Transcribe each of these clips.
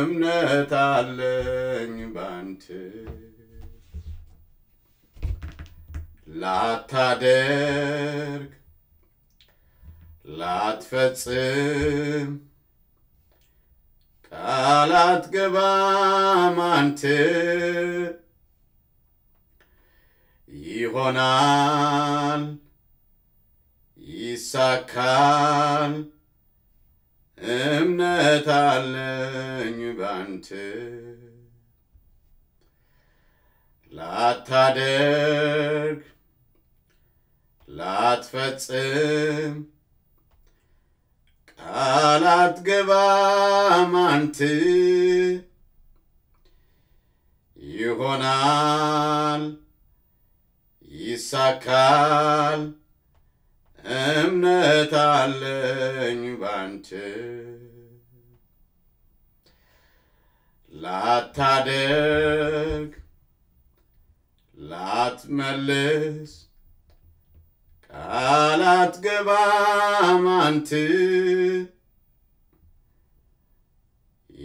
እምነት አለኝ ባንተ። ላታደርግ ላትፈጽም ቃል አትገባም አንተ። ይሆናል ይሳካል እምነት አለኝ ባንተ። ላታደርግ ላትፈጽም ቃል አትገባም አንተ። ይሆናል ይሳካል እምነት አለኝ ባንተ። ላታደርግ ላትመልስ ቃል አትገባም አንተ።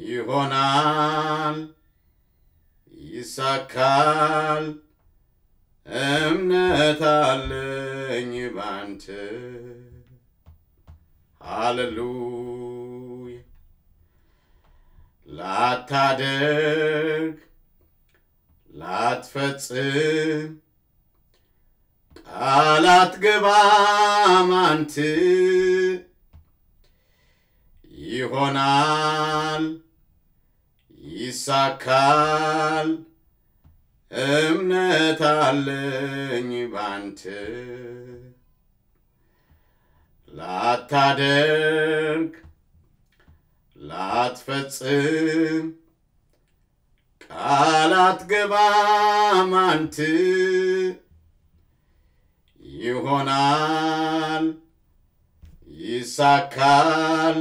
ይሆናል ይሳካል እምነት አለኝ ባንተ። ሃሌሉያ። ላታደርግ ላትፈጽም ቃል አትገባም አንተ። ይሆናል ይሳካል እምነት አለኝ ባንተ። ላታደርግ ላትፈጽም ቃል አትገባም አንተ። ይሆናል ይሳካል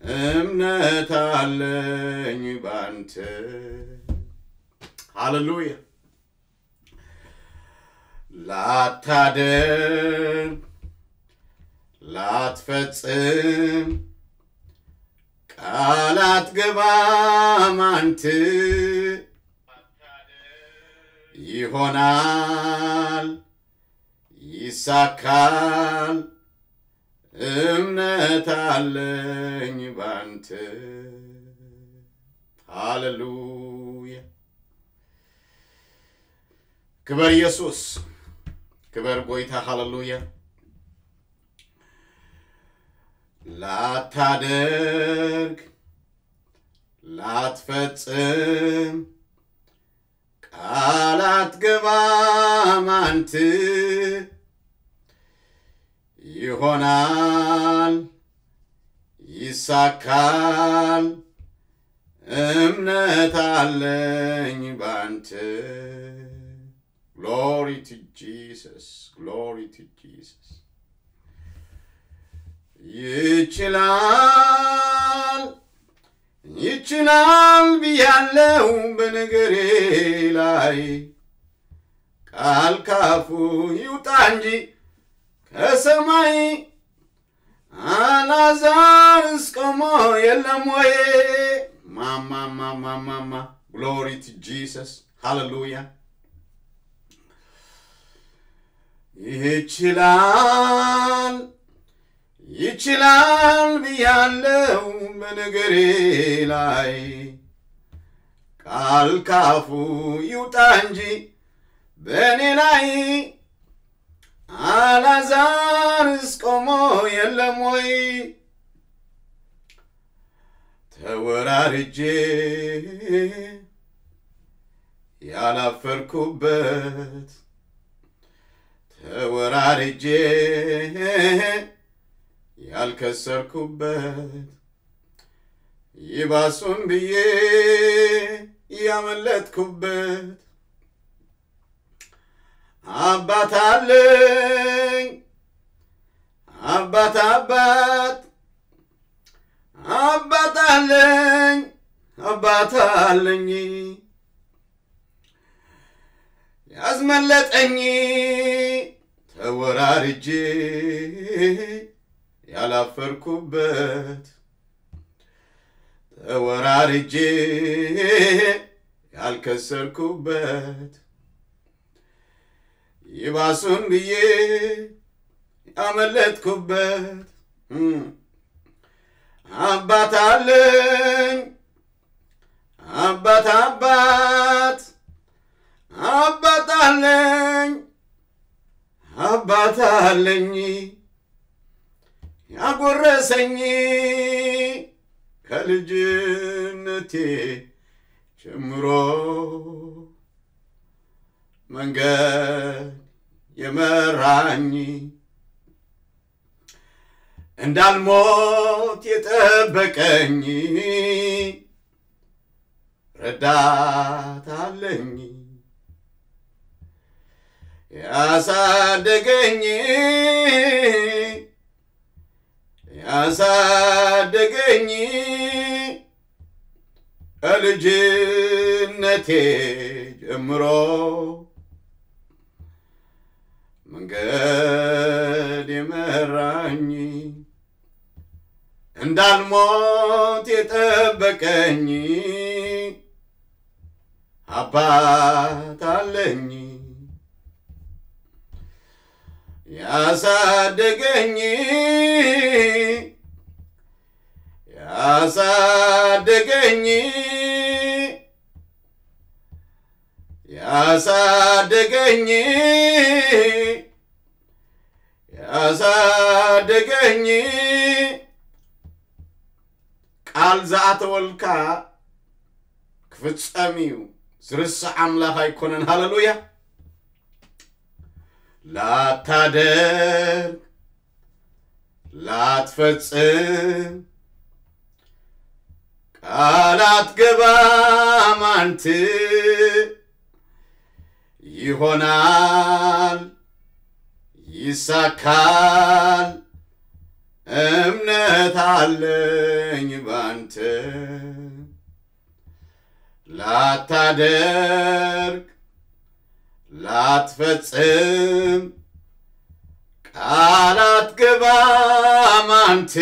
እምነት አለኝ ባንተ። ሃሌሉያ። ላታደርግ ላትፈጽም ቃል አትገባም አንተ። ይሆናል ይሳካል እምነት አለኝ ባንተ። ሃሌሉያ። ክበር ኢየሱስ፣ ክበር ጎይታ። ሃሌሉያ። ላታደርግ ላትፈጽም ቃል አትገባም አንተ። ይሆናል ይሳካል እምነት አለኝ ባንተ። Glory to Jesus. Glory to Jesus. ይችላል ይችላል ብያለው በነገሬ ላይ ቃል ካፉ ይውጣ እንጂ ከሰማይ አላዛርስ ቆሞ የለም ወይ? ማማ ማማ ማማ። Glory to Jesus. ሃሌሉያ። ይችላል ይችላል ብያለው በነገሬ ላይ ቃል ካፉ ይውጣ እንጂ በእኔ ላይ አላዛርስ ቆሞ የለም ወይ? ተወራርጄ ያላፈርኩበት ተወራርጄ ያልከሰርኩበት ይባሱን ብዬ ያመለጥኩበት አባት አለኝ። አባት አባት አባት አለኝ። አባት አለኝ ያስመለጠኝ ተወራርጄ ያላፈርኩበት ተወራርጄ ያልከሰርኩበት፣ ይባሱን ብዬ ያመለጥኩበት፣ እም፣ አባት አለኝ፣ አባት፣ አባት፣ አባት አለኝ፣ አባት አለኝ፣ ያጎረሰኝ ከልጅነቴ ጀምሮ መንገድ የመራኝ፣ እንዳልሞት የጠበቀኝ ረዳት አለኝ፣ ያሳደገኝ፣ ያሳደገኝ ከልጅነቴ ጀምሮ መንገድ የመራኝ፣ እንዳልሞት የጠበቀኝ አባት አለኝ፣ ያሳደገኝ፣ ያሳደገኝ፣ ያሳደገኝ፣ ያሳደገኝ። ቃል ዝኣተወልካ ክፍጸም እዩ። ዝርስዕ ኣምላኽ ኣይኮነን። ሃሌሉያ። ላታደርግ ላትፈጽም ቃል ኣትገባም ኣንተ፣ ይሆናል ይሳካል እምነት አለኝ ባንተ። ላታደርግ ላትፈጽም ቃል አትገባም አንተ፣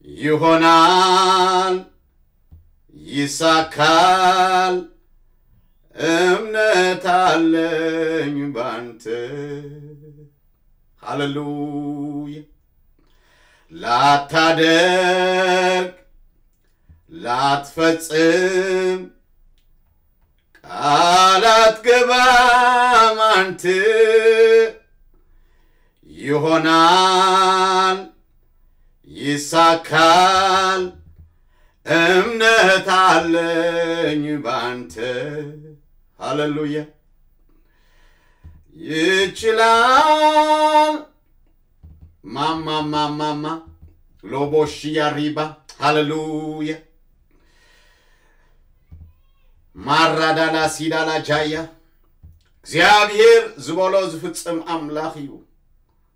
ይሆናል ይሳካል እምነት አለኝ ባንተ። ሃሌሉያ። ላታደርግ ላትፈጽም ቃል አትገባም አንተ፣ ይሆናል ይሳካል እምነት አለኝ ባንተ። ሃሌሉያ። ይችላል ማማ ማማማ ሎቦሽያ ሪባ። ሃሌሉያ። ማራዳላ ሲዳላ ጃያ። እግዚኣብሔር ዝበሎ ዝፍጽም ኣምላኽ እዩ።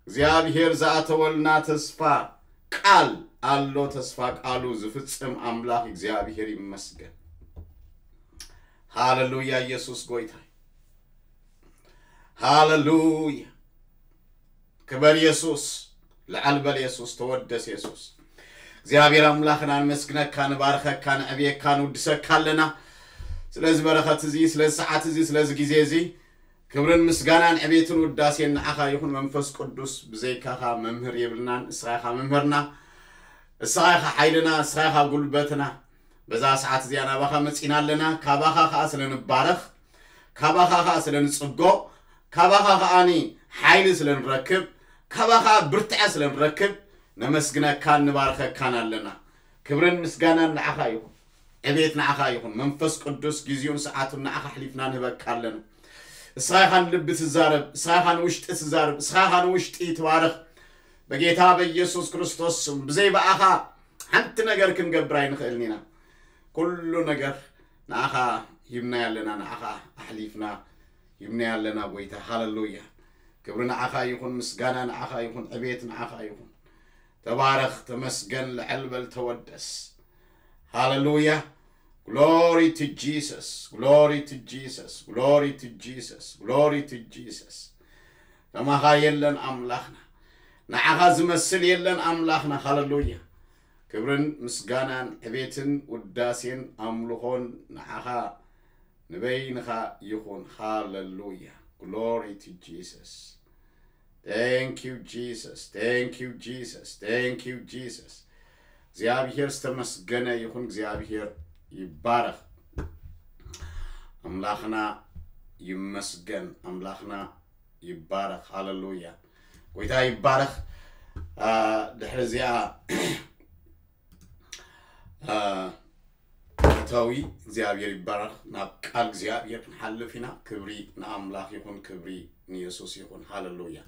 እግዚኣብሔር ዝኣተወልና ተስፋ ቃል ኣሎ። ተስፋ ቃሉ ዝፍጽም ኣምላኽ እግዚኣብሔር ይመስገን። ሃሌሉያ። ኢየሱስ ጎይታ። ሃሌሉያ። ክበር የሱስ። ልዓል በል የሱስ። ተወደስ የሱስ። እግዚኣብሔር ኣምላኽና ንመስግነካ፣ ንባርኸካ፣ ንዕብየካ፣ ንውድሰካ ኣለና። ስለዚ በረኸት እዚ፣ ስለዚ ሰዓት እዚ፣ ስለዚ ግዜ እዚ ክብርን ምስጋናን ዕቤትን ውዳሴን ንዓኻ ይኹን። መንፈስ ቅዱስ ብዘይካኻ መምህር የብልናን። እስኻ ኢኻ መምህርና፣ እስኻ ኢኻ ሓይልና፣ እስኻ ኢኻ ጉልበትና። በዛ ሰዓት እዚኣ ናባኻ መጺና ኣለና። ካባኻ ኸኣ ስለ ንባረኽ፣ ካባኻ ኸኣ ስለ ንጽጎ፣ ካባኻ ኸኣኒ ሓይሊ ስለ ንረክብ፣ ካባኻ ብርትዐ ስለ ንረክብ ነመስግነካን ንባርኸካን ኣለና። ክብርን ምስጋናን ንዓኻ ይኹን። ዕቤት ንዓኻ ይኹን። መንፈስ ቅዱስ ግዜኡን ሰዓቱን ንዓኻ ኣሕሊፍና ንህበካ ኣለና። እስኻ ኢኻ ንልቢ ትዛረብ፣ እስኻ ኢኻ ንውሽጢ ትዛረብ፣ እስኻ ኢኻ ንውሽጢ ትባርኽ። በጌታ በኢየሱስ ክርስቶስ ስም ብዘይ ብኣኻ ሓንቲ ነገር ክንገብር ኣይንኽእልን ኢና። ኩሉ ነገር ንዓኻ ሂብናዮ ኣለና፣ ንዓኻ ኣሕሊፍና ሂብናዮ ኣለና ጎይታ። ሃሌሉያ። ክብሪ ንዓኻ ይኹን፣ ምስጋና ንዓኻ ይኹን፣ ዕቤት ንዓኻ ይኹን። ተባረኽ፣ ተመስገን፣ ልዕል በል፣ ተወደስ። ሃሌሉያ። Glory to Jesus, glory to Jesus, glory to Jesus, glory to Jesus. ከማኻ የለን ኣምላኽና፣ ንዓኻ ዝመስል የለን ኣምላኽና። ሃሌሉያ። ክብርን ምስጋናን ዕቤትን ውዳሴን ኣምልኾን ንዓኻ ንበይንኻ ይኹን። ሃለሉያ። Glory to Jesus. Thank you, Jesus. Thank you, Jesus. Thank you, Jesus. እግዚኣብሔር ዝተመስገነ ይኹን። እግዚኣብሔር ይባረኽ። ኣምላኽና ይመስገን። ኣምላኽና ይባረኽ። ሃለሉያ። ጎይታ ይባረኽ። ድሕሪ እዚኣ እታዊ እግዚኣብሔር ይባረኽ። ናብ ቃል እግዚኣብሔር ክንሓልፍ ኢና። ክብሪ ንኣምላኽ ይኹን። ክብሪ ንየሱስ ይኹን። ሃለሉያ።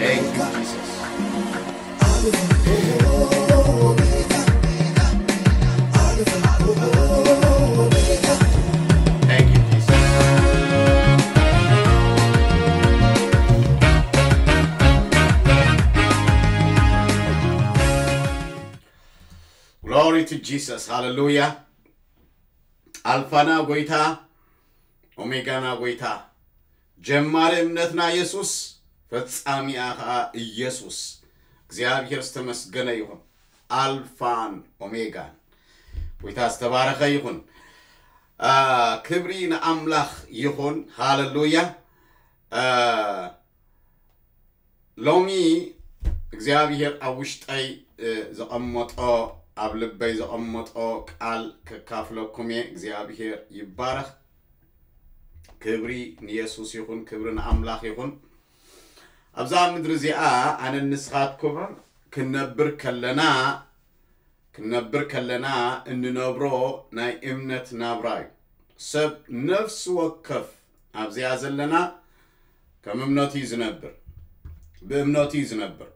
Thank you, Jesus. Thank you, Jesus. Glory to Jesus. ሃለሉያ። ኣልፋና ጎይታ፣ ኦሜጋና ጎይታ፣ ጀማሪ እምነትና የሱስ፣ ፈጻሚኣ ኸኣ ኢየሱስ። እግዚኣብሔር ዝተመስገነ ይኹን። ኣልፋን ኦሜጋን። ጎይታ ዝተባረኸ ይኹን። ክብሪ ንኣምላኽ ይኹን። ሃለሉያ። ሎሚ እግዚኣብሔር ኣብ ውሽጠይ ዘቐመጦ፣ ኣብ ልበይ ዘቐመጦ ቃል ከካፍለኩም እየ። እግዚኣብሔር ይባረኽ። ክብሪ ንየሱስ ይኹን። ክብሪ ንኣምላኽ ይኹን። ኣብዛ ምድሪ እዚኣ ኣነን ንስኻትኩምን ክንነብር ከለና ክንነብር ከለና እንነብሮ ናይ እምነት ናብራ እዩ። ሰብ ነፍሲ ወከፍ ኣብዚኣ ዘለና ከም እምነቱ እዩ ዝነብር፣ ብእምነቱ እዩ ዝነብር።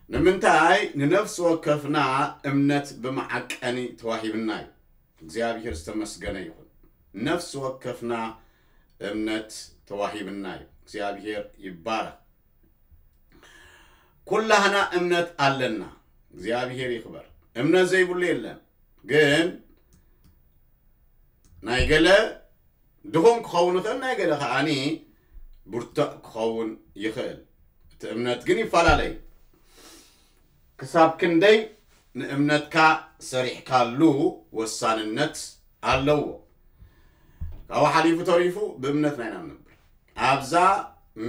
ንምንታይ? ንነፍሲ ወከፍና እምነት ብመዓቀኒ ተዋሂብና እዩ። እግዚኣብሔር ዝተመስገነ ይኹን። ነፍሲ ወከፍና እምነት ተዋሂብና እዩ። እግዚኣብሔር ይባረኽ። ኩላህና እምነት ኣለና። እግዚኣብሔር ይኽበር። እምነት ዘይብሉ የለን። ግን ናይ ገለ ድኹም ክኸውን ይኽእል፣ ናይ ገለ ከዓኒ ብርቱዕ ክኸውን ይኽእል። እቲ እምነት ግን ይፈላለዩ። ክሳብ ክንደይ ንእምነትካ ሰሪሕካሉ ወሳንነት ኣለዎ። ካብኡ ሓሊፉ ተሪፉ ብእምነትና ኢና ንነብር። ኣብዛ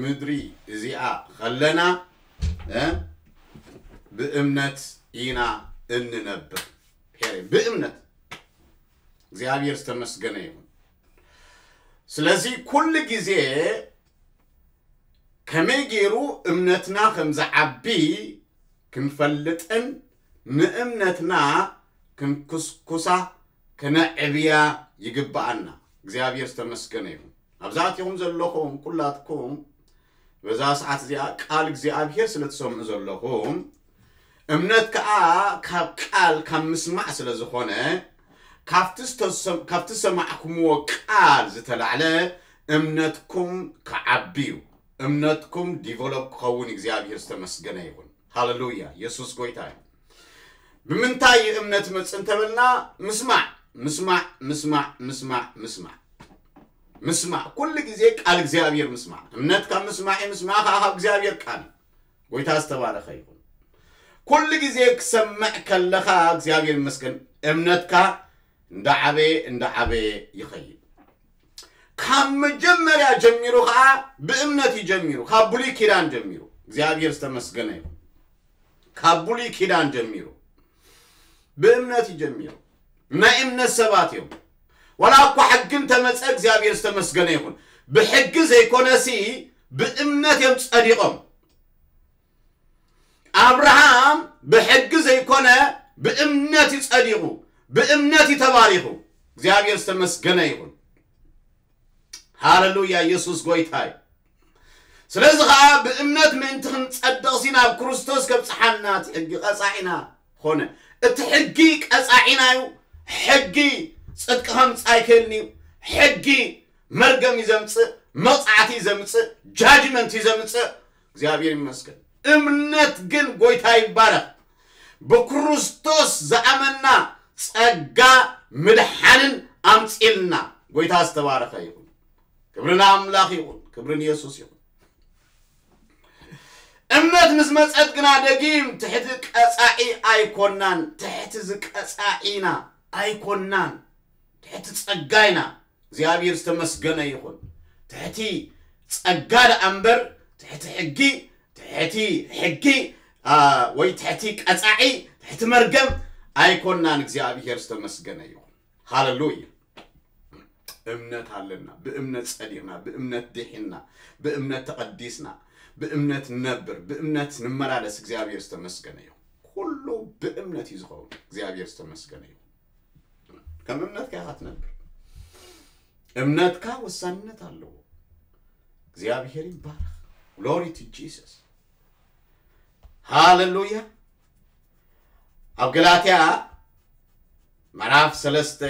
ምድሪ እዚኣ ኸለና፣ እ፣ ብእምነት ኢና እንነብር። ፔሬ፣ ብእምነት። እግዚኣብሔር ዝተመስገነ ይኹን። ስለዚ ኩሉ ግዜ ከመይ ገይሩ እምነትና ከም ዝዓቢ ክንፈልጥን ንእምነትና ክንኩስኩሳ ከነዕብያ ይግብኣና። እግዚኣብሔር ዝተመስገነ ይኹን። ኣብዛ ኣቲኹም ዘለኹም ኩላትኩም በዛ ሰዓት እዚኣ ቃል እግዚኣብሔር ስለ ትሰምዑ ዘለኹም፣ እምነት ከኣ ካብ ቃል ካብ ምስማዕ ስለ ዝኾነ፣ ካብቲ ዝተሰም-፣ ካብቲ ዝሰማዕኩምዎ ቃል ዝተላዕለ እምነትኩም ክዓቢ እዩ። እምነትኩም ዲቨሎፕ ክኸውን እግዚኣብሔር ዝተመስገነ ይኹን። ሃለሉያ። የሱስ ጎይታ እዩ። ብምንታይ እዩ እምነት መጽእ እንተበልና፣ ምስማዕ፣ ምስማዕ፣ ምስማዕ፣ ምስማዕ፣ ምስማዕ። ምስማዕ። ኩሉ ግዜ ቃል እግዚኣብሔር ምስማዕ። እምነት ካብ ምስማዕ እዩ፣ ምስማዕ ከዓ ካብ እግዚኣብሔር ቃል እዩ። ጎይታ ዝተባረኸ ይኹን። ኩሉ ግዜ ክሰምዕ ከለኻ እግዚኣብሔር ይመስገን፣ እምነትካ እንዳዓበየ፣ እንዳዓበየ ይኸይድ። ካብ መጀመርያ ጀሚሩ ከዓ ብእምነት እዩ ጀሚሩ። ካብ ብሉይ ኪዳን ጀሚሩ። እግዚኣብሔር ዝተመስገነ ይኹን። ካብ ብሉይ ኪዳን ጀሚሩ ብእምነት እዩ ጀሚሩ። ናይ እምነት ሰባት እዮም። ዋላ እኳ ሕጊ እንተመፀ እግዚኣብሔር ዝተመስገነ ይኹን። ብሕጊ ዘይኮነሲ ብእምነት እዮም ጸዲቖም። ኣብርሃም ብሕጊ ዘይኮነ ብእምነት እዩ ጸዲቑ፣ ብእምነት እዩ ተባሪኹ። እግዚኣብሔር ዝተመስገነ ይኹን። ሃለሉያ፣ የሱስ ጎይታ እዩ። ስለዚ ኸዓ ብእምነት ምእንቲ ክንጸድቕ ሲ ናብ ክርስቶስ ከብጽሓና እቲ ሕጊ ቀጻዒና ኾነ። እቲ ሕጊ ቀጻዒና እዩ። ሕጊ ጽድቂ ከምጽእ ኣይክእልን እዩ። ሕጊ መርገም እዩ ዘምጽእ፣ መቕጻዕቲ እዩ ዘምጽእ፣ ጃጅመንት እዩ ዘምጽእ። እግዚኣብሔር ይመስገን። እምነት ግን ጎይታ ይባረኽ። ብክርስቶስ ዝኣመና ጸጋ ምድሓንን ኣምጺልና። ጎይታ ዝተባረኸ ይኹን። ክብሪ ንኣምላኽ ይኹን። ክብሪ ንየሱስ ይኹን። እምነት ምስ መጸት ግና ደጊም ትሕቲ ቀጻዒ ኣይኮናን። ትሕቲ ዝቀጻዒና ኣይኮናን። ትሕቲ ጸጋይና። እግዚኣብሔር ዝተመስገነ ይኹን። ትሕቲ ጸጋ ደኣ እምበር ትሕቲ ሕጊ፣ ትሕቲ ሕጊ፣ አ፣ ወይ ትሕቲ ቀጻዒ፣ ትሕቲ መርገም ኣይኮናን። እግዚኣብሔር ዝተመስገነ ይኹን። ሃሌሉያ። እምነት ኣለና። ብእምነት ጸዲቕና፣ ብእምነት ድሒንና፣ ብእምነት ተቐዲስና፣ ብእምነት ንነብር፣ ብእምነት ንመላለስ። እግዚኣብሔር ዝተመስገነ ይኹን። ኩሉ ብእምነት እዩ ዝኸውን። እግዚኣብሔር ዝተመስገነ ይኹን። ከም እምነትካ ኢኻ ትነብር። እምነትካ ወሳንነት ኣለዎ። እግዚኣብሔር ይባረኽ። Glory to Jesus። ሃሌሉያ። ኣብ ገላትያ ምዕራፍ ሰለስተ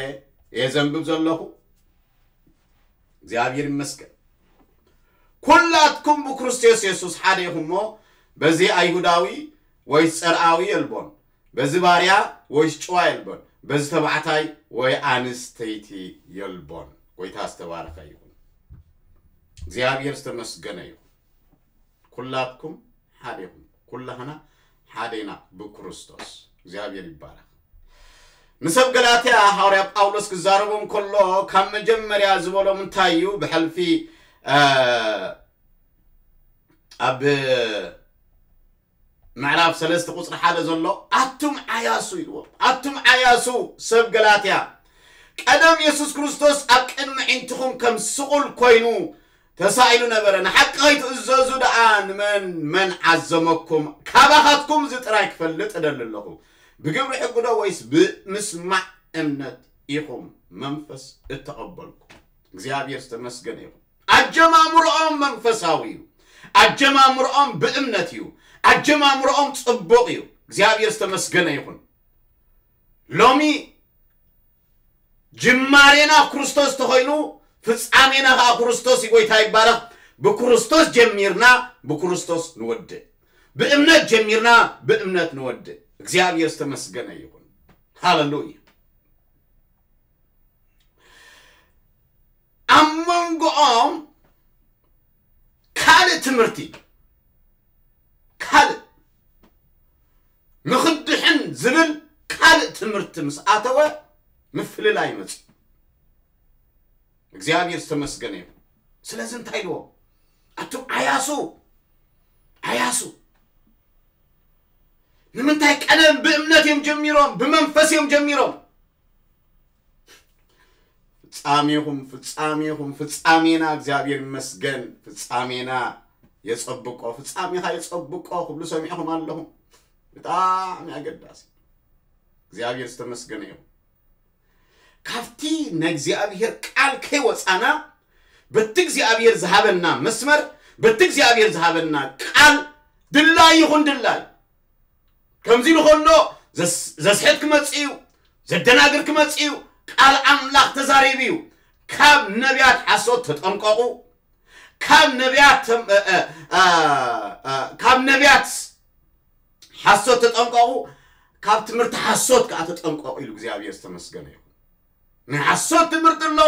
እየ ዘንብብ ዘለኹ። እግዚኣብሔር ይመስገን። ኩላትኩም ብክርስቶስ የሱስ ሓደ ኢኹም እሞ፣ በዚ ኣይሁዳዊ ወይስ ጸርኣዊ የልቦን፣ በዚ ባርያ ወይስ ጭዋ የልቦን፣ በዚ ተባዕታይ ወይ ኣንስተይቲ የልቦን። ጎይታ ዝተባረኸ ይኹን። እግዚኣብሔር ዝተመስገነ ይኹን። ኩላትኩም ሓደ ኢኹም። ኩላህና ሓደ ኢና ብክርስቶስ። እግዚኣብሔር ይባረኽ። ንሰብ ገላትያ ሃዋርያ ጳውሎስ ክዛረቦም ከሎ ካብ መጀመርያ ዝበሎም እንታይ እዩ? ብሕልፊ፣ እ፣ ኣብ ምዕራፍ ሰለስተ ቁጽሪ ሓደ ዘሎ፣ ኣቱም ዓያሱ ኢልዎም። ኣቱም ዓያሱ ሰብ ገላትያ፣ ቀደም የሱስ ክርስቶስ ኣብ ቅድሚ ኣዒንትኹም ከም ስቑል ኮይኑ ተሳኢሉ ነበረ። ንሓቂ ከይትእዘዙ ደኣ ንመን መን ዓዘመኩም? ካባኻትኩም እዚ ጥራይ ክፈልጥ እደሊ ኣለኹ። ብግብሪ ሕጊ ዶ ወይስ ብምስማዕ እምነት ኢኹም መንፈስ እተቐበልኩም? እግዚኣብሔር ዝተመስገነ ይኹን። ኣጀማምርኦም መንፈሳዊ እዩ። ኣጀማምርኦም ብእምነት እዩ። ኣጀማምርኦም ጽቡቕ እዩ። እግዚኣብሔር ዝተመስገነ ይኹን። ሎሚ ጅማሬና ክርስቶስ ተኾይኑ፣ ፍጻሜና ኸዓ ክርስቶስ እዩ። ጎይታ ይባረኽ። ብክርስቶስ ጀሚርና፣ ብክርስቶስ ንወድእ። ብእምነት ጀሚርና፣ ብእምነት ንወድእ። እግዚኣብሔር ዝተመስገነ ይኹን። ሃሌሉያ። ኣብ መንጎኦም ካልእ ትምህርቲ፣ ካልእ ንኽድሕን ዝብል ካልእ ትምህርቲ ምስ ኣተወ፣ ምፍልላይ መጽኡ። እግዚኣብሔር ዝተመስገነ ይኹን። ስለዚ እንታይ ኢልዎ? ኣቱም ዓያሱ፣ ዓያሱ። ንምንታይ ቀደም ብእምነት እዮም ጀሚሮም፣ ብመንፈስ እዮም ጀሚሮም። ፍጻሜኹም፣ ፍጻሜኹም፣ ፍጻሜና እግዚኣብሔር ይመስገን። ፍጻሜና የጸብቆ፣ ፍጻሜኻ የጸብቆ ክብሉ ሰሚዕኹም ኣለኹም። ብጣዕሚ ኣገዳሲ። እግዚኣብሔር ዝተመስገነ ይኹን። ካብቲ ናይ እግዚኣብሔር ቃል ከይወጻና፣ በቲ እግዚኣብሔር ዝሃበና መስመር፣ በቲ እግዚኣብሔር ዝሃበና ቃል ድላይ ይኹን ድላይ። ከምዚ ኢሉ ከሎ ዘስ-፣ ዘስሕት ክመጽእ እዩ፣ ዘደናግር ክመጽእ እዩ። ቃል ኣምላኽ ተዛሪቡ እዩ። ካብ ነቢያት ሓሶት ተጠንቀቑ። ካብ ነቢያት ተም-፣ እ፣ እ፣ እ፣ እ፣ ካብ ነቢያት ሓሶት ተጠንቀቑ፣ ካብ ትምህርቲ ሓሶት ከኣ ተጠንቀቑ ኢሉ እግዚኣብሔር ዝተመስገነ ይኹን። ናይ ሓሶት ትምህርቲ ኣሎ፣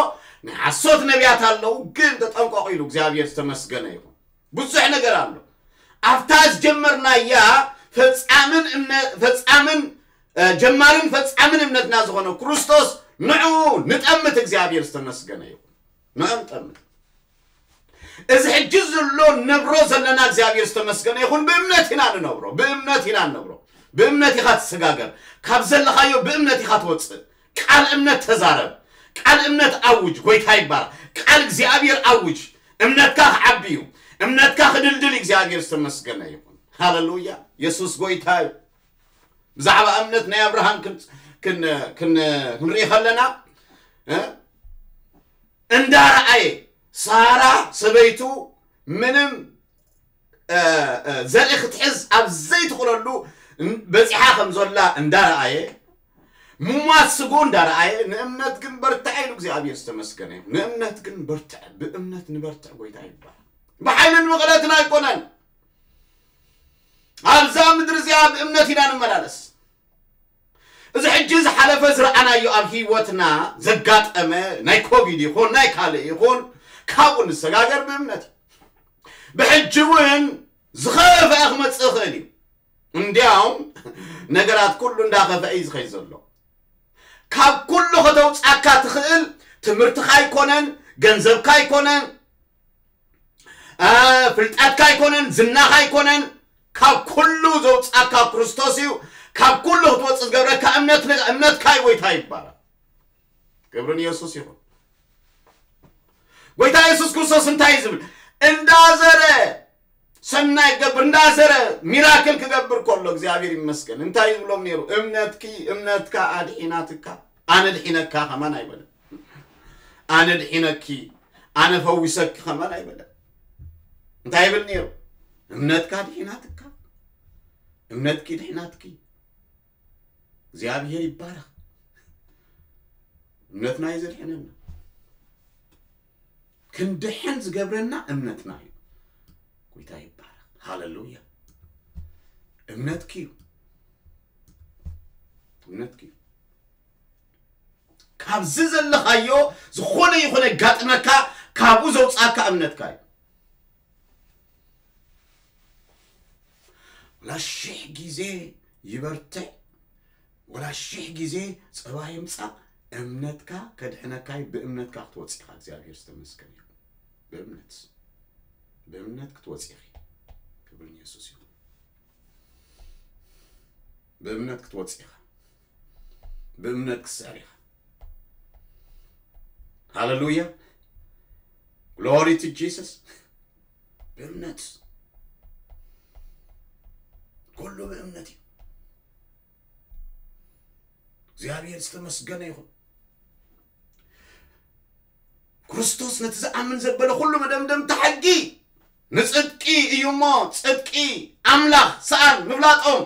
ናይ ሓሶት ነቢያት ኣለዉ፣ ግን ተጠንቀቑ ኢሉ እግዚኣብሔር ዝተመስገነ ይኹን። ብዙሕ ነገር ኣሎ። ኣብታ ዝጀመርናያ ፈጻምን እምነ-፣ ፈጻምን፣ እ፣ ጀማርን ፈጻምን እምነትና ዝኾነ ክርስቶስ ንዕኡ ንጠምት። እግዚኣብሔር ዝተመስገነ ይኹን። ንዕኡ ንጠምት። እዚ ሕጂ ዘሎ ነብሮ ዘለና እግዚኣብሔር ዝተመስገነ ይኹን። ብእምነት ኢና ንነብሮ፣ ብእምነት ኢና ንነብሮ። ብእምነት ኢኻ ትሰጋገር። ካብ ዘለኻዮ ብእምነት ኢኻ ትወጽእ። ቃል እምነት ተዛረብ። ቃል እምነት ኣውጅ። ጎይታ ይባረኽ። ቃል እግዚኣብሔር ኣውጅ። እምነትካ ክዓቢ እዩ። እምነትካ ክድልድል እዩ። እግዚኣብሔር ዝተመስገነ ይኹን። ሃሌሉያ። የሱስ ጎይታ እዩ። ብዛዕባ እምነት ናይ ኣብርሃም ክን-፣ ክን-፣ ክን-፣ ክንርኢ ከለና፣ እ? እንዳረኣየ ሳራ ሰበይቱ ምንም፣ እ፣ እ፣ ዘርኢ ክትሕዝ ኣብ ዘይትኽእለሉ በጺሓ ከም ዘላ እንዳረኣየ፣ ሙማት ስግኡ እንዳረኣየ፣ ንእምነት ግን በርትዐ ኢሉ እግዚኣብሔር ዝተመስገነ ይኹን። ንእምነት ግን በርትዐ፣ ብእምነት ንበርትዕ፣ ጎይታ ይባረኽ። ብሓይልን ብቕለትን ኣይኮነን። ኣብዛ ምድሪ እዚኣ ብእምነት ኢና ንመላለስ። እዚ ሕጂ ዝሓለፈ ዝረኣናዮ ኣብ ህይወትና ዘጋጠመ ናይ ኮቪድ ይኹን ናይ ካልእ ይኹን ካብኡ ንሰጋገር ብእምነት እዩ። ብሕጂ እውን ዝኸፈአ ክመጽእ ይኽእል እዩ። እንዲያውም ነገራት ኩሉ እንዳኸፈአ እዩ ዝኸይድ ዘሎ። ካብ ኩሉ ከተውጻካ ትኽእል ትምህርትኻ ኣይኮነን፣ ገንዘብካ ኣይኮነን፣ አ፣ ፍልጠትካ ኣይኮነን፣ ዝናኻ ኣይኮነን። ካብ ኩሉ ዘውጻካ ክርስቶስ እዩ። ካብ ኩሉ ክትወጽእ ዝገብረካ እምነት፣ እምነትካ እዩ። ጎይታ ይባረክ። ክብሪ ንየሱስ ይኹን። ጎይታ የሱስ ክርስቶስ እንታይ እዩ ዝብል? እንዳዘረ ሰናይ ክገብር፣ እንዳዘረ ሚራክል ክገብር ከሎ እግዚኣብሔር ይመስገን እንታይ ይብሎም ነይሩ? እምነትኪ፣ እምነትካ ኣድሒናትካ፣ ኣነ ድሒነካ ከማን ኣይበለን። ኣነ ድሒነኪ፣ ኣነ ፈዊሰኪ ከማን ኣይበለን። እንታይ ይብል ነይሩ? እምነትካ ድሒናትካ፣ እምነትኪ ድሒናትኪ። እግዚኣብሔር ይባረክ። እምነትና እዩ ዘድሕነና። ክንድሕን ዝገብረና እምነትና እዩ። ጎይታ ይባረክ። ሃሌሉያ። እምነትኪ እዩ። እምነትኪ እዩ። ካብዚ ዘለኻዮ ዝኾነ ይኹን የጋጥመካ፣ ካብኡ ዘውጻካ እምነትካ እዩ። ወላ ሽሕ ግዜ ይበርትዕ፣ ወላ ሽሕ ግዜ ጸባ ይምጻእ፣ እምነትካ ከድሕነካ እዩ። ብእምነትካ ክትወጽእ ኢኻ። እግዚኣብሔር ዝተመስገነ ይኹን። ብእምነት፣ ብእምነት ክትወጽእ ኢኺ። ክብሪ ንየሱስ ይኹን። ብእምነት ክትወጽእ ኢኻ። ብእምነት ክትስዕር ኢኻ። ሃሌሉያ። ግሎሪ ቱ ጂሰስ። ብእምነት፣ ኩሉ ብእምነት እዩ። እግዚኣብሔር ዝተመስገነ ይኹን። ክርስቶስ ነቲ ዝኣምን ዘበለ ኩሉ መደምደምታ ሕጊ ንጽድቂ እዩ እሞ፣ ጽድቂ ኣምላኽ ሰኣን ምፍላጦም፣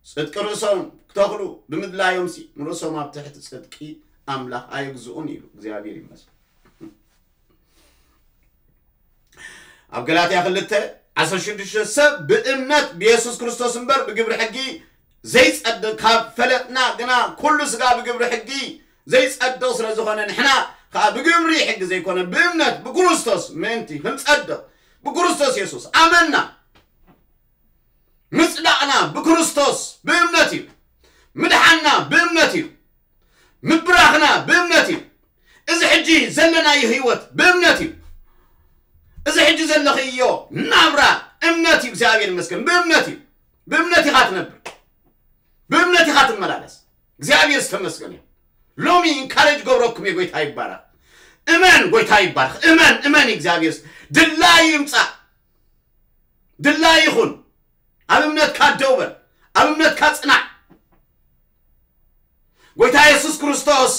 ጽድቂ ርእሶም ክተኽሉ ብምድላዮም ሲ ንርእሶም ኣብ ትሕቲ ጽድቂ ኣምላኽ ኣየግዝኡን ኢሉ። እግዚኣብሔር ይመስገን። ኣብ ገላትያ ክልተ ዓሰርተ ሽዱሽተ፣ ሰብ ብእምነት ብየሱስ ክርስቶስ እምበር ብግብሪ ሕጊ ዘይጸድቕ፣ ካብ ፈለጥና ግና ኩሉ ስጋ ብግብሪ ሕጊ ዘይጸድቕ ስለ ዝኾነ፣ ንሕና ከኣ ብግብሪ ሕጊ ዘይኮነ ብእምነት ብክርስቶስ ምእንቲ ክንጸድቕ ብክርስቶስ የሱስ ኣመንና። ምጽዳቕና ብክርስቶስ ብእምነት እዩ። ምድሓንና ብእምነት እዩ። ምብራኽና ብእምነት እዩ። እዚ ሕጂ ዘለናዮ ህይወት ብእምነት እዩ። እዚ ሕጂ ዘለኽዮ ናብራ እምነት እዩ። እግዚኣብሔር ይመስገን፣ ብእምነት እዩ። ብእምነት ኢኻ ትነብር፣ ብእምነት ኢኻ ትመላለስ። እግዚኣብሔር ዝተመስገነ እዩ። ሎሚ ኢንካሬጅ ገብረኩም እየ። ጎይታ ይባረኽ። እመን፣ ጎይታ ይባረኽ። እመን፣ እመን። እግዚኣብሔር ድላይ ይምጻእ፣ ድላይ ይኹን። ኣብ እምነትካ ደው በል፣ ኣብ እምነትካ ጽናዕ። ጎይታ የሱስ ክርስቶስ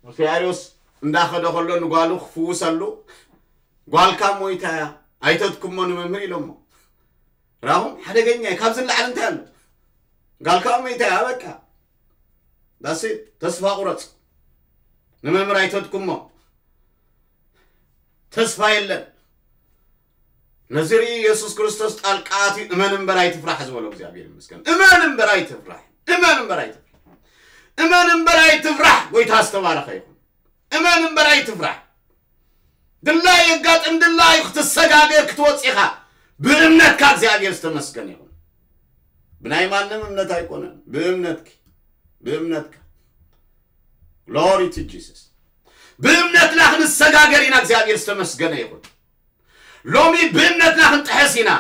ምስ ያይሮስ እንዳኸደ ከሎ ንጓሉ ክፍውሰሉ፣ "ጓልካ ሞይታ እያ፣ ኣይተድክሞ ንመምህር" ኢሎሞ። ራኹም ሓደገኛ እዩ። ካብዚ ንላዕሊ እንታይ ኣሎ? "ጓልካ ሞይታ እያ፣ በቃ ዳስ ተስፋ ቁረጽ፣ ንመምህር ኣይተድክሞ፣ ተስፋ የለን። ነዚ ርኢ የሱስ ክርስቶስ ጣልቃ ኣትዩ እመን እምበር ኣይትፍራሕ ዝበሎ እግዚኣብሔር ይመስገን። እመን እምበር ኣይትፍራሕ፣ እመን እምበር ኣይትፍራሕ፣ እመን እምበር ኣይትፍራሕ። ጎይታ ዝተባረኸ ይኹን። እመን እምበር ኣይትፍራሕ። ድላይ የጋጥም ድላይ ክትሰጋገር ክትወጽእ ኢኻ። ብእምነትካ እግዚኣብሔር ዝተመስገነ ይኹን። ብናይ ማንም እምነት ኣይኮነን፣ ብእምነትኪ፣ ብእምነትካ። ግሎሪ ቱ ጂሰስ። ብእምነትና ክንሰጋገር ኢና። እግዚኣብሔር ዝተመስገነ ይኹን። ሎሚ ብእምነትና ክንጥሕስ ኢና።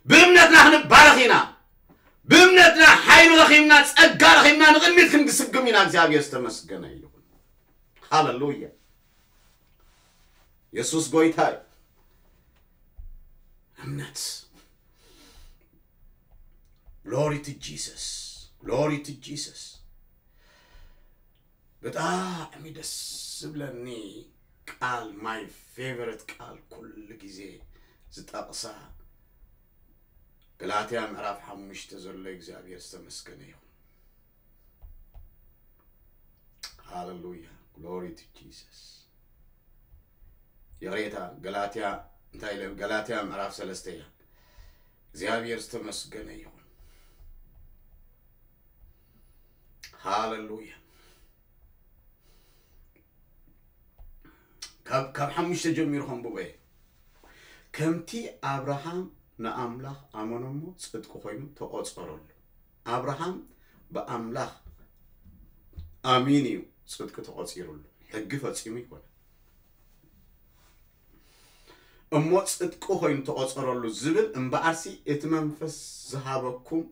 ብእምነትና ክንባረኽ ኢና። ብእምነትና ሓይሊ ረኺብና፣ ጸጋ ረኺብና፣ ንቕድሚት ክንግስግም ኢና። እግዚኣብሔር ዝተመስገነ ይኹን። ሃሌሉያ። የሱስ ጎይታ እዩ። እምነት። ግሎሪ ቱ ጂሰስ። ግሎሪ ቱ ጂሰስ። ብጣዕሚ ደስ ዝብለኒ ቃል፣ ማይ ፌቨረት ቃል፣ ኩሉ ግዜ ዝጠቕሳ፣ ገላትያ ምዕራፍ ሓሙሽተ ዘሎ፣ እግዚኣብሔር ዝተመስገነ ይኹን። ሃሌሉያ፣ ግሎሪ ቱ ጂሰስ። ይቕሬታ፣ ገላትያ፣ እንታይ ኢለ? ገላትያ ምዕራፍ ሰለስተ እያ። እግዚኣብሔር ዝተመስገነ ይኹን። ሃሌሉያ። ካብ ካብ ሓሙሽተ ጀሚሩ ከንብቦ እየ። ከምቲ ኣብርሃም ንኣምላኽ ኣመኖ እሞ ጽድቂ ኮይኑ ተቖጸረሉ። ኣብርሃም ብኣምላኽ ኣሚኑ እዩ ጽድቂ ተቖጺሩሉ። ሕጊ ፈጺሙ ይኮነ። እሞ ጽድቂ ኮይኑ ተቖጸረሉ ዝብል እምበኣርሲ እቲ መንፈስ ዝሃበኩም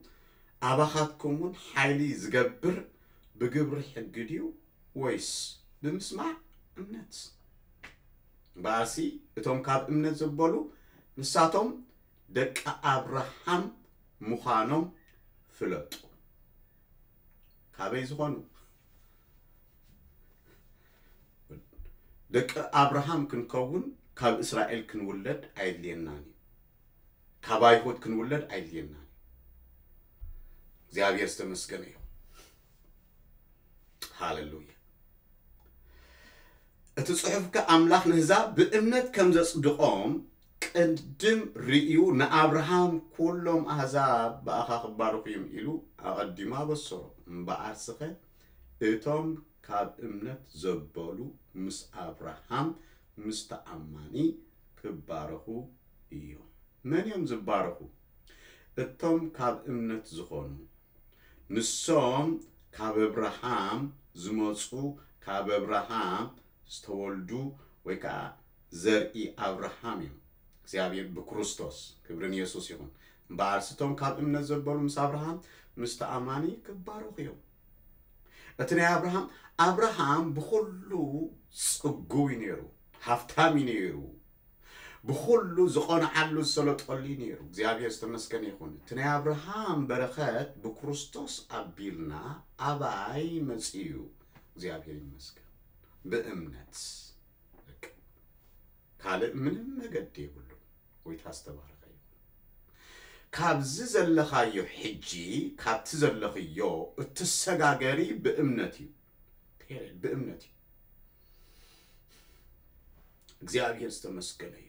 ኣባኻትኩም እውን ሓይሊ ዝገብር ብግብሪ ሕጊ ድዩ ወይስ ብምስማዕ እምነት? እምበኣርሲ እቶም ካብ እምነት ዘበሉ ንሳቶም ደቂ ኣብርሃም ምዃኖም ፍለጡ። ካበይ ዝኾኑ? ደቂ ኣብርሃም ክንከውን ካብ እስራኤል ክንውለድ ኣየድልየናን እዩ። ካብ ኣይሁድ ክንውለድ ኣየድልየናን እዩ። እግዚኣብሔር ዝተመስገነ ይኹን። ሃሌሉያ። እቲ ጽሑፍ ከ ኣምላኽ ንህዛብ ብእምነት ከም ዘጽድቖም ቅድም ርእዩ ንኣብርሃም ኩሎም ኣህዛብ ብኣኻ ክባረኹ እዮም ኢሉ ኣቐዲሙ ኣበሰሮ። እምበኣርስኸ እቶም ካብ እምነት ዘበሉ ምስ ኣብርሃም ምስ ተኣማኒ ክባረኹ እዮም። መን እዮም ዝባረኹ? እቶም ካብ እምነት ዝኾኑ። ንሶም ካብ ኣብርሃም ዝመጹ፣ ካብ ኣብርሃም ዝተወልዱ ወይ ከዓ ዘርኢ ኣብርሃም እዮም። እግዚኣብሔር ብክርስቶስ፣ ክብሪ ንየሱስ ይኹን። እምበኣርሲ እቶም ካብ እምነት ዘበሉ ምስ ኣብርሃም ምስ ተኣማኒ ክባረኹ እዮም። እቲ ናይ ኣብርሃም ኣብርሃም ብኹሉ ጽጉው እዩ ነይሩ፣ ሃፍታም እዩ ነይሩ፣ ብኹሉ ዝቐንዓሉ ዝሰለጠሉ እዩ ነይሩ። እግዚኣብሔር ዝተመስገነ ይኹን። እቲ ናይ ኣብርሃም በረኸት ብክርስቶስ ኣቢልና ኣባይ መጺኡ? እግዚኣብሔር ይመስገን። ብእምነት በቃ። ካልእ ምንም መገዲ የብሉን። ጎይታ ዝተባረኸ ይኹን። ካብዚ ዘለኻዮ ሕጂ፣ ካብቲ ዘለኽዮ እትሰጋገሪ ብእምነት እዩ። ፔሬድ። ብእምነት እዩ። እግዚኣብሔር ዝተመስገነ ይኹን።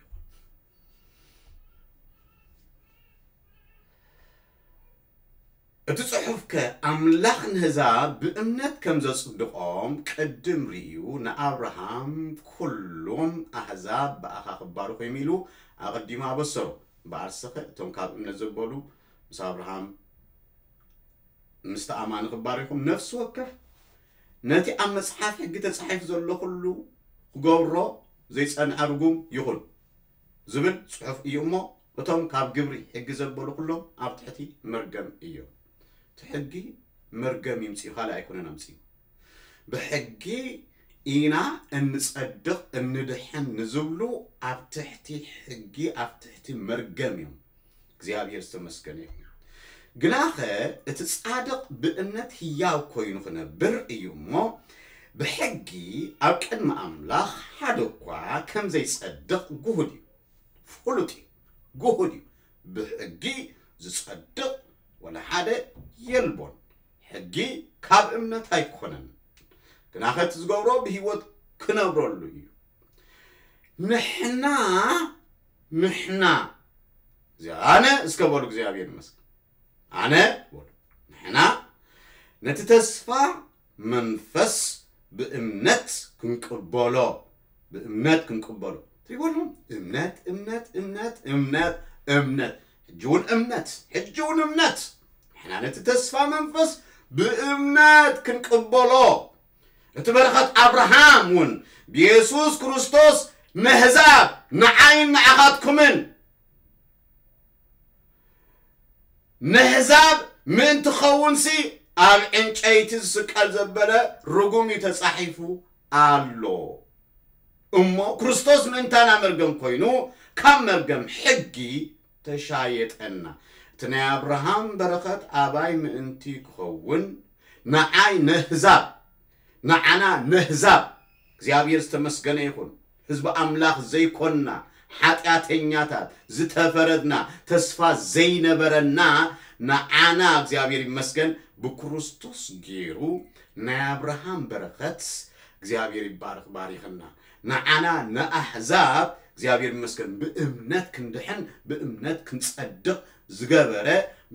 እቲ ጽሑፍ ከ ኣምላኽ ንህዛብ ብእምነት ከም ዘጽድቖም ቅድም ርእዩ ንኣብርሃም ኩሎም ኣህዛብ ብኣኻ ክባረኹ እዮም ኢሉ ኣቐዲሙ ኣበሰሮ። እምበኣርሰኸ እቶም ካብ እምነት ዘበሉ ምስ ኣብርሃም ምስ ተኣማኒ ክባረኹም ነፍሲ ወከፍ ነቲ ኣብ መጽሓፍ ሕጊ ተጻሒፉ ዘሎ ኩሉ ክገብሮ ዘይጸንዐ ርጉም ይኹን ዝብል ጽሑፍ እዩ እሞ፣ እቶም ካብ ግብሪ ሕጊ ዘበሉ ኩሎም ኣብ ትሕቲ መርገም እዮም። እቲ ሕጊ መርገም ይምጽእ፣ ካልእ ኣይኮነን ኣምጽኡ። ብሕጊ ኢና እንጸድቕ እንድሕን ንዝብሉ ኣብ ትሕቲ ሕጊ ኣብ ትሕቲ መርገም እዮም። እግዚኣብሔር ዝተመስገነ ይኹን። ግናኸ እቲ ጻድቕ ብእምነት ህያው ኮይኑ ክነብር እዩ እሞ፣ ብሕጊ ኣብ ቅድሚ ኣምላኽ ሓደ እኳ ከም ዘይጸድቕ ግሁድ እዩ። ፍሉጥ እዩ። ግሁድ እዩ። ብሕጊ ዝጸድቕ ወላ ሓደ የልቦን። ሕጊ ካብ እምነት ኣይኮነን። ግናኸ እቲ ዝገብሮ ብህይወት ክነብረሉ እዩ። ንሕና፣ ንሕና፣ እዚ ኣነ እስከ በሉ እግዚኣብሔር ይመስገን። ኣነ በሉ፣ ንሕና ነቲ ተስፋ መንፈስ ብእምነት ክንቅበሎ፣ ብእምነት ክንቅበሎ። ትሪእዎ ኣለኹም? እምነት፣ እምነት፣ እምነት፣ እምነት፣ እምነት። ሕጂ እውን እምነት፣ ሕጂ እውን እምነት። ንሕና ነቲ ተስፋ መንፈስ ብእምነት ክንቅበሎ። እቲ በረኸት ኣብርሃም እውን ብየሱስ ክርስቶስ ነህዛብ ንዓይን ንዓኻትኩምን ነህዛብ ምእንቲ ኸውንሲ ኣብ ዕንጨይቲ ዝስቀል ዘበለ ርጉም እዩ ተጻሒፉ ኣሎ። እሞ ክርስቶስ ምእንታና መርገም ኮይኑ ካብ መርገም ሕጊ ተሻየጠና። እቲ ናይ ኣብርሃም በረኸት ኣባይ ምእንቲ ክኸውን ንዓይ ነህዛብ፣ ንዓና ነህዛብ፣ እግዚኣብሔር ዝተመስገነ ይኹን፣ ህዝቢ ኣምላኽ ዘይኮንና፣ ሓጢኣተኛታት፣ ዝተፈረድና፣ ተስፋ ዘይነበረና፣ ንዓና እግዚኣብሔር ይመስገን ብክርስቶስ ገይሩ ናይ ኣብርሃም በረኸት እግዚኣብሔር ይባርኽ፣ ባሪኽና። ንዓና ንኣሕዛብ እግዚኣብሔር ይመስገን ብእምነት ክንድሕን ብእምነት ክንጸድቕ ዝገበረ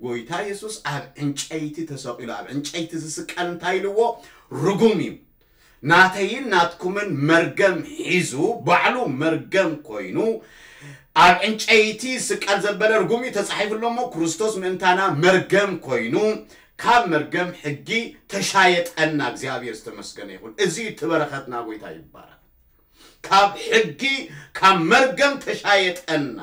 ጎይታ የሱስ ኣብ ዕንጨይቲ ተሰቒሉ፣ ኣብ ዕንጨይቲ ዝስቀል እንታይ ኢልዎ? ርጉም እዩ። ናተይን ናትኩምን መርገም ሒዙ፣ ባዕሉ መርገም ኮይኑ፣ ኣብ ዕንጨይቲ ስቀል ዘበለ ርጉም እዩ ተጻሒፉ ኣሎ እሞ፣ ክርስቶስ ምእንታና መርገም ኮይኑ፣ ካብ መርገም ሕጊ ተሻየጠና። እግዚኣብሔር ዝተመስገነ ይኹን። እዚ እዩ እቲ በረኸትና። ጎይታ ይባረኽ። ካብ ሕጊ፣ ካብ መርገም ተሻየጠና።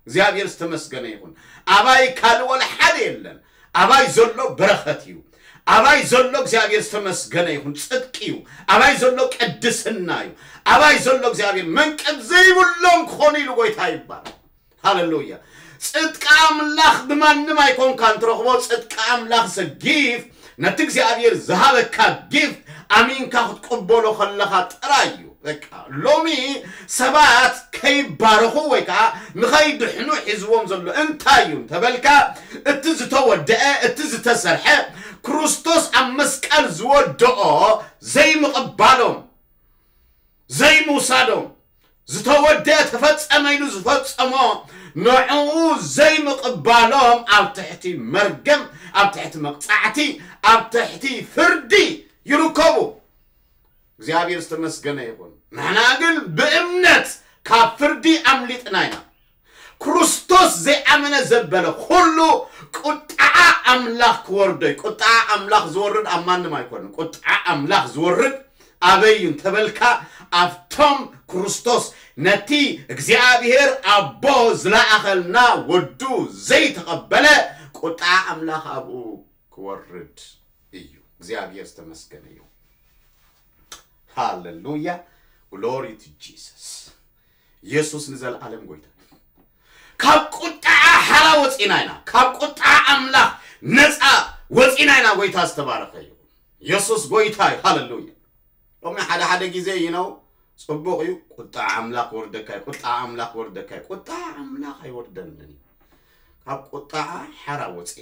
እግዚኣብሔር ዝተመስገነ ይኹን። ኣባይ ካልእ ወላ ሓደ የለን። ኣባይ ዘሎ በረኸት እዩ። ኣባይ ዘሎ እግዚኣብሔር ዝተመስገነ ይኹን ጽድቂ እዩ። ኣባይ ዘሎ ቅድስና እዩ። ኣባይ ዘሎ እግዚኣብሔር መንቀብ ዘይብሎም ክኾኑ ኢሉ ጎይታ ይባረኽ። ሃሌሉያ። ጽድቂ ኣምላኽ ብማንም ኣይኮንካን ትረኽቦ። ጽድቂ ኣምላኽ is a gift፣ ነቲ እግዚኣብሔር ዝሃበካ ጊፍት ኣሚንካ ክትቅበሎ ከለኻ ጥራይ እዩ። በቃ ሎሚ ሰባት ከይባረኹ ወይ ከዓ ንኸይድሕኑ ሒዝዎም ዘሎ እንታይ እዩ እንተበልካ፣ እቲ ዝተወደአ፣ እቲ ዝተሰርሐ፣ ክርስቶስ ኣብ መስቀል ዝወደኦ ዘይምቕባሎም፣ ዘይምውሳዶም፣ ዝተወደአ ተፈጸመ ኢሉ ዝፈጸሞ ንዕኡ ዘይምቕባሎም ኣብ ትሕቲ መርገም፣ ኣብ ትሕቲ መቕጻዕቲ፣ ኣብ ትሕቲ ፍርዲ ይርከቡ። እግዚኣብሔር ዝተመስገነ ይኹን። ንሕና ግን ብእምነት ካብ ፍርዲ ኣምሊጥና ኢና። ክርስቶስ ዘይኣመነ ዘበለ ኩሉ ቁጥዓ ኣምላኽ ክወርዶ እዩ። ቁጥዓ ኣምላኽ ዝወርድ ኣብ ማንም ኣይኮንን። ቁጥዓ ኣምላኽ ዝወርድ ኣበይ እዩ እንተበልካ፣ ኣብቶም ክርስቶስ ነቲ እግዚኣብሔር ኣቦ ዝለኣኸልና ወዱ ዘይተቐበለ ቁጥዓ ኣምላኽ ኣብኡ ክወርድ እዩ። እግዚኣብሔር ዝተመስገነ እዩ። ሃሌሉያ። Glory to Jesus። ኢየሱስ ንዘለዓለም ጎይታ እዩ። ካብ ቁጥዓ ሓራ ወፂና ኢና። ካብ ቁጥዓ ኣምላኽ ነፃ ወፂና ኢና። ጎይታ ዝተባረኸ እዩ። ኢየሱስ ጎይታ እዩ። ሃሌሉያ። ሎሚ ሓደ ሓደ ግዜ ይነው ጽቡቕ እዩ። ቁጣ ኣምላኽ ወርደካ እዩ። ቁጣ ኣምላኽ ወርደካ እዩ። ቁጣ ኣምላኽ ኣይወርደንን እዩ። ካብ ቁጣ ሓራ ወፀ።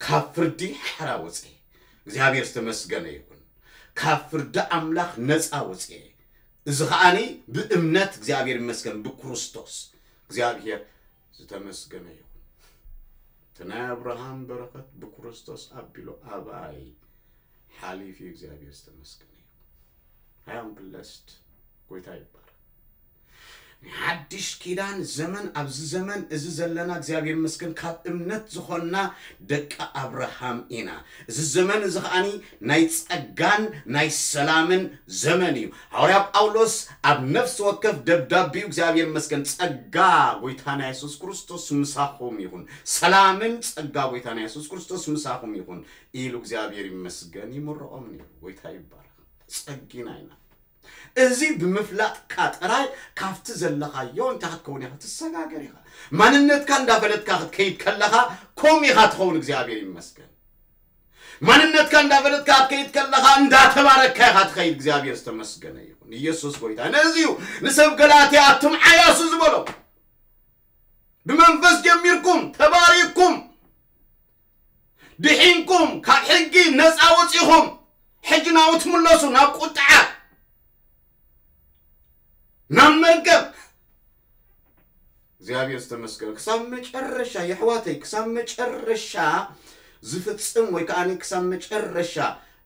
ካብ ፍርዲ ሓራ ወፀ። እግዚኣብሔር ዝተመስገነ ይኹን። ካብ ፍርዲ ኣምላኽ ነፃ ወፀ። እዚ ከዓኒ ብእምነት እግዚኣብሔር ይመስገን ብክርስቶስ። እግዚኣብሔር ዝተመስገነ ይኹን። እቲ ናይ ኣብርሃም በረኸት ብክርስቶስ ኣቢሉ ኣባይ ሓሊፉ እዩ። እግዚኣብሔር ዝተመስገነ ይኹን። I am blessed። ጎይታ ይባረክ። ናይ ሓድሽ ኪዳን ዘመን፣ ኣብዚ ዘመን እዚ ዘለና እግዚኣብሔር ይመስገን ካብ እምነት ዝኾንና ደቂ ኣብርሃም ኢና። እዚ ዘመን እዚ ከዓኒ ናይ ጸጋን ናይ ሰላምን ዘመን እዩ። ሃዋርያ ጳውሎስ ኣብ ነፍሲ ወከፍ ደብዳቤኡ እግዚኣብሔር ይመስገን ጸጋ ጎይታና የሱስ ክርስቶስ ምሳኹም ይኹን፣ ሰላምን ጸጋ ጎይታና የሱስ ክርስቶስ ምሳኹም ይኹን ኢሉ እግዚኣብሔር ይመስገን ይምርቖም ነይሩ። ጎይታ ይባረክ። ጸጊና ኢና። እዚ ብምፍላጥካ ጥራይ ካብቲ ዘለኻዮ እንታይ ክትከውን ኢኻ? ትሰጋገር ኢኻ። ማንነትካ እንዳፈለጥካ ክትከይድ ከለኻ ከምኡ ኢኻ ትኸውን። እግዚኣብሔር ይመስገን። ማንነትካ እንዳፈለጥካ ክትከይድ ከለኻ እንዳተባረክካ ኢኻ ትኸይድ። እግዚኣብሔር ዝተመስገነ ይኹን። ኢየሱስ ጎይታ። ነዚ እዩ ንሰብ ገላትያ ኣቱም ዓያሱ ዝበሎ። ብመንፈስ ጀሚርኩም ተባሪክኩም ድሒንኩም ካብ ሕጊ ነፃ ወፂኹም ሕጂ ናብኡ ትምለሱ፣ ናብ ቁጥዓ፣ ናብ መርገም። እግዚኣብሔር ዝተመስገነ። ክሳብ መጨረሻ የሕዋተይ፣ ክሳብ መጨረሻ ዝፍጽም ወይ ከዓ ክሳብ መጨረሻ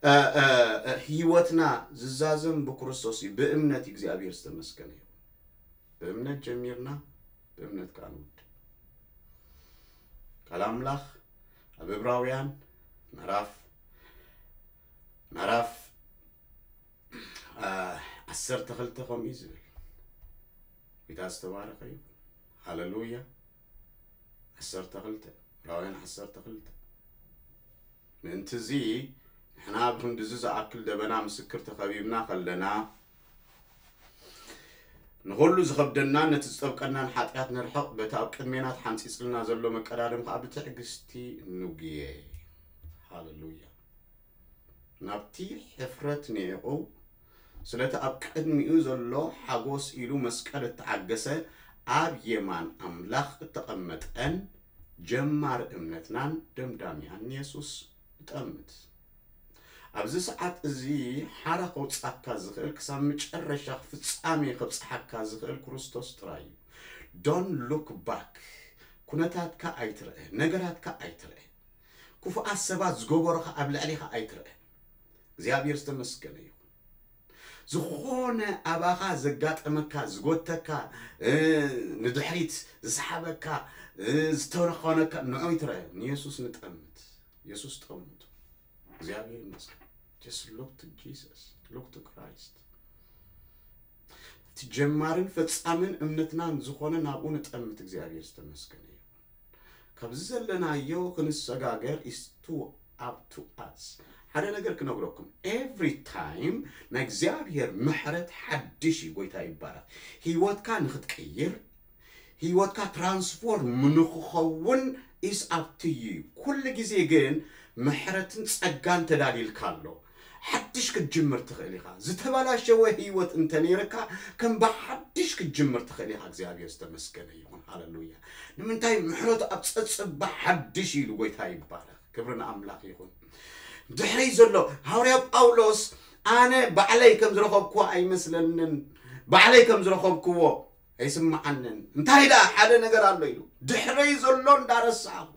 እ፣ እ፣ እ፣ ህይወትና ዝዛዘም ብክርስቶስ እዩ። ብእምነት እግዚኣብሔር ዝተመስገነ እዩ። ብእምነት ጀሚርና ብእምነት ከዓ ንውድእ። ቃል ኣምላኽ ኣብ ዕብራውያን ምዕራፍ ምዕራፍ አ፣ ዓሰርተ ክልተ ከምኡ እዩ ዝብል። ጌታ ዝተባረኸ እዩ። ሃሌሉያ። ዓሰርተ ክልተ፣ ዕብራውያን ዓሰርተ ክልተ። ምእንቲ እዚ ንሕና ብኽንድዚ ዝኣክል ደበና ምስክር ተኸቢብና ከለና፣ ንኹሉ ዝኸብደናን ነቲ ዝጠብቀናን ሓጢኣት ንርሕቕ፣ በቲ ኣብ ቅድሜና ተሓንጺጽልና ዘሎ መቀዳድም ከኣ ብትዕግስቲ ንጉየ። ሃሌሉያ። ናብቲ ሕፍረት ንዒቑ፣ ስለቲ ኣብ ቅድሚኡ ዘሎ ሓጎስ ኢሉ መስቀል እተዓገሰ፣ ኣብ የማን ኣምላኽ እተቐመጠን ጀማሪ እምነትናን ደምዳሚኣን ንየሱስ ንጠምት። ኣብዚ ሰዓት እዚ ሓራ ከውጻካ ዝኽእል፣ ክሳብ መጨረሻ ፍጻሜ ከብጽሓካ ዝኽእል ክርስቶስ ጥራይ እዩ። Don't look back። ኩነታትካ ኣይትርአ፣ ነገራትካ ኣይትርአ። ክፉኣት ሰባት ዝገበሮኻ ኣብ ልዕሌኻ ኣይትርአ። እግዚኣብሔር ዝተመስገነ ይኹን። ዝኾነ ኣባኻ ዘጋጠመካ፣ ዝጎተካ፣ እ፣ ንድሕሪት ዝሰሓበካ፣ እ፣ ዝተረኾነካ፣ ንዑ ይትረአ። ንየሱስ ንጠምት። የሱስ ጠምቱ። እግዚኣብሔር ይመስገን። Just look to Jesus. Look to Christ. እቲ ጀማርን ፈጻምን እምነትናን ዝኾነ ናብኡ ንጠምት። እግዚኣብሔር ዝተመስገነ ይኹን። ካብዚ ዘለናዮ ክንሰጋገር is to up to us። ሓደ ነገር ክነግረኩም፣ every time ናይ እግዚኣብሔር ምሕረት ሓድሽ እዩ። ጎይታ ይባረክ። ህይወትካ ንክትቅይር፣ ህይወትካ ትራንስፎርም ንክኸውን is up to you። ኩሉ ግዜ ግን ምሕረትን ጸጋን ተዳልይልካ ኣሎ። ሓድሽ ክትጅምር ትኽእል ኢኻ። ዝተበላሸወ ህይወት እንተነይርካ ከም ብሓድሽ ክትጅምር ትኽእል ኢኻ። እግዚኣብሔር ዝተመስገነ ይኹን። ሃለሉያ። ንምንታይ? ምሕረቱ ኣብ ጸጽባ ሓድሽ ኢሉ። ጎይታ ይባረክ። ክብሪ ንኣምላኽ ይኹን። ድሕረይ ዘሎ፣ ሃዋርያ ጳውሎስ፣ ኣነ ባዕለይ ከም ዝረኸብክዎ ኣይመስለንን፣ ባዕለይ ከም ዝረኸብክዎ ኣይስምዓንን። እንታይ ደኣ ሓደ ነገር ኣሎ ኢሉ፣ ድሕረይ ዘሎ እንዳረሳዕኹ፣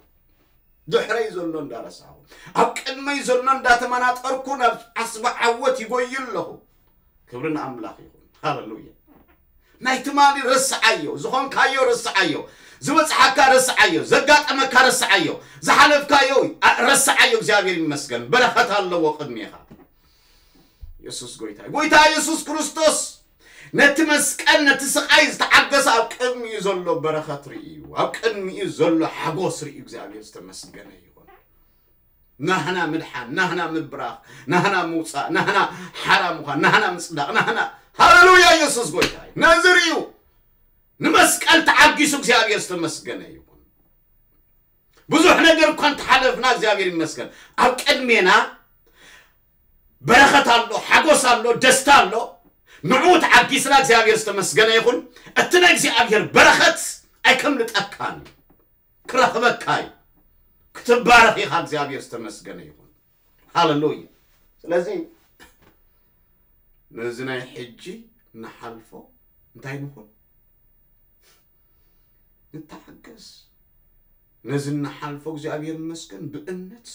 ድሕረይ ዘሎ እንዳረሳዕኹ፣ ኣብ ቅድመይ ዘሎ እንዳተመናጠርኩ ናብ ዓስቢ ዓወት ይጎይ ኣለኹ። ክብሪ ንኣምላኽ ይኹን። ሃለሉያ። ናይ ትማሊ ረስዓዮ፣ ዝኾንካዮ ረስዓዮ፣ ዝበጽሓካ ረስዓዮ፣ ዘጋጠመካ ረስዓዮ፣ ዝሓለፍካዮ፣ ኣ፣ ረስዓዮ። እግዚኣብሔር ይመስገን። በረኸት ኣለዎ ቅድሜኻ። የሱስ ጎይታ እዩ። ጎይታ የሱስ ክርስቶስ ነቲ መስቀል፣ ነቲ ስቓይ ዝተዓገሰ ኣብ ቅድሚኡ ዘሎ በረኸት ርእዩ፣ ኣብ ቅድሚኡ ዘሎ ሓጎስ ርእዩ። እግዚኣብሔር ዝተመስገነ ይኹን። ናህና ምድሓን፣ ናህና ምብራኽ፣ ናህና ምውጻእ፣ ናህና ሓራ ምዃን፣ ናህና ምጽዳቕ፣ ናህና፣ ሃለሉያ፣ የሱስ ጎይታ እዩ። ነዚ ርእዩ ንመስቀል ተዓጊሱ እግዚኣብሔር ዝተመስገነ ይኹን። ብዙሕ ነገር እኳ እንተሓለፍና እግዚኣብሔር ይመስገን። ኣብ ቅድሜና በረኸት ኣሎ፣ ሓጎስ ኣሎ፣ ደስታ ኣሎ። ንዕኡ ተዓጊስና እግዚኣብሔር ዝተመስገነ ይኹን። እቲ ናይ እግዚኣብሔር በረኸት ኣይከምልጠካን እዩ። ክረኽበካ እዩ። ክትባረኽ ኢኻ። እግዚኣብሔር ዝተመስገነ ይኹን። ሃለሉያ። ስለዚ ነዚ ናይ ሕጂ ንሓልፎ እንታይ ንኹን? ንተሓገስ። ነዚ ንሓልፎ እግዚኣብሔር ይመስገን ብእምነት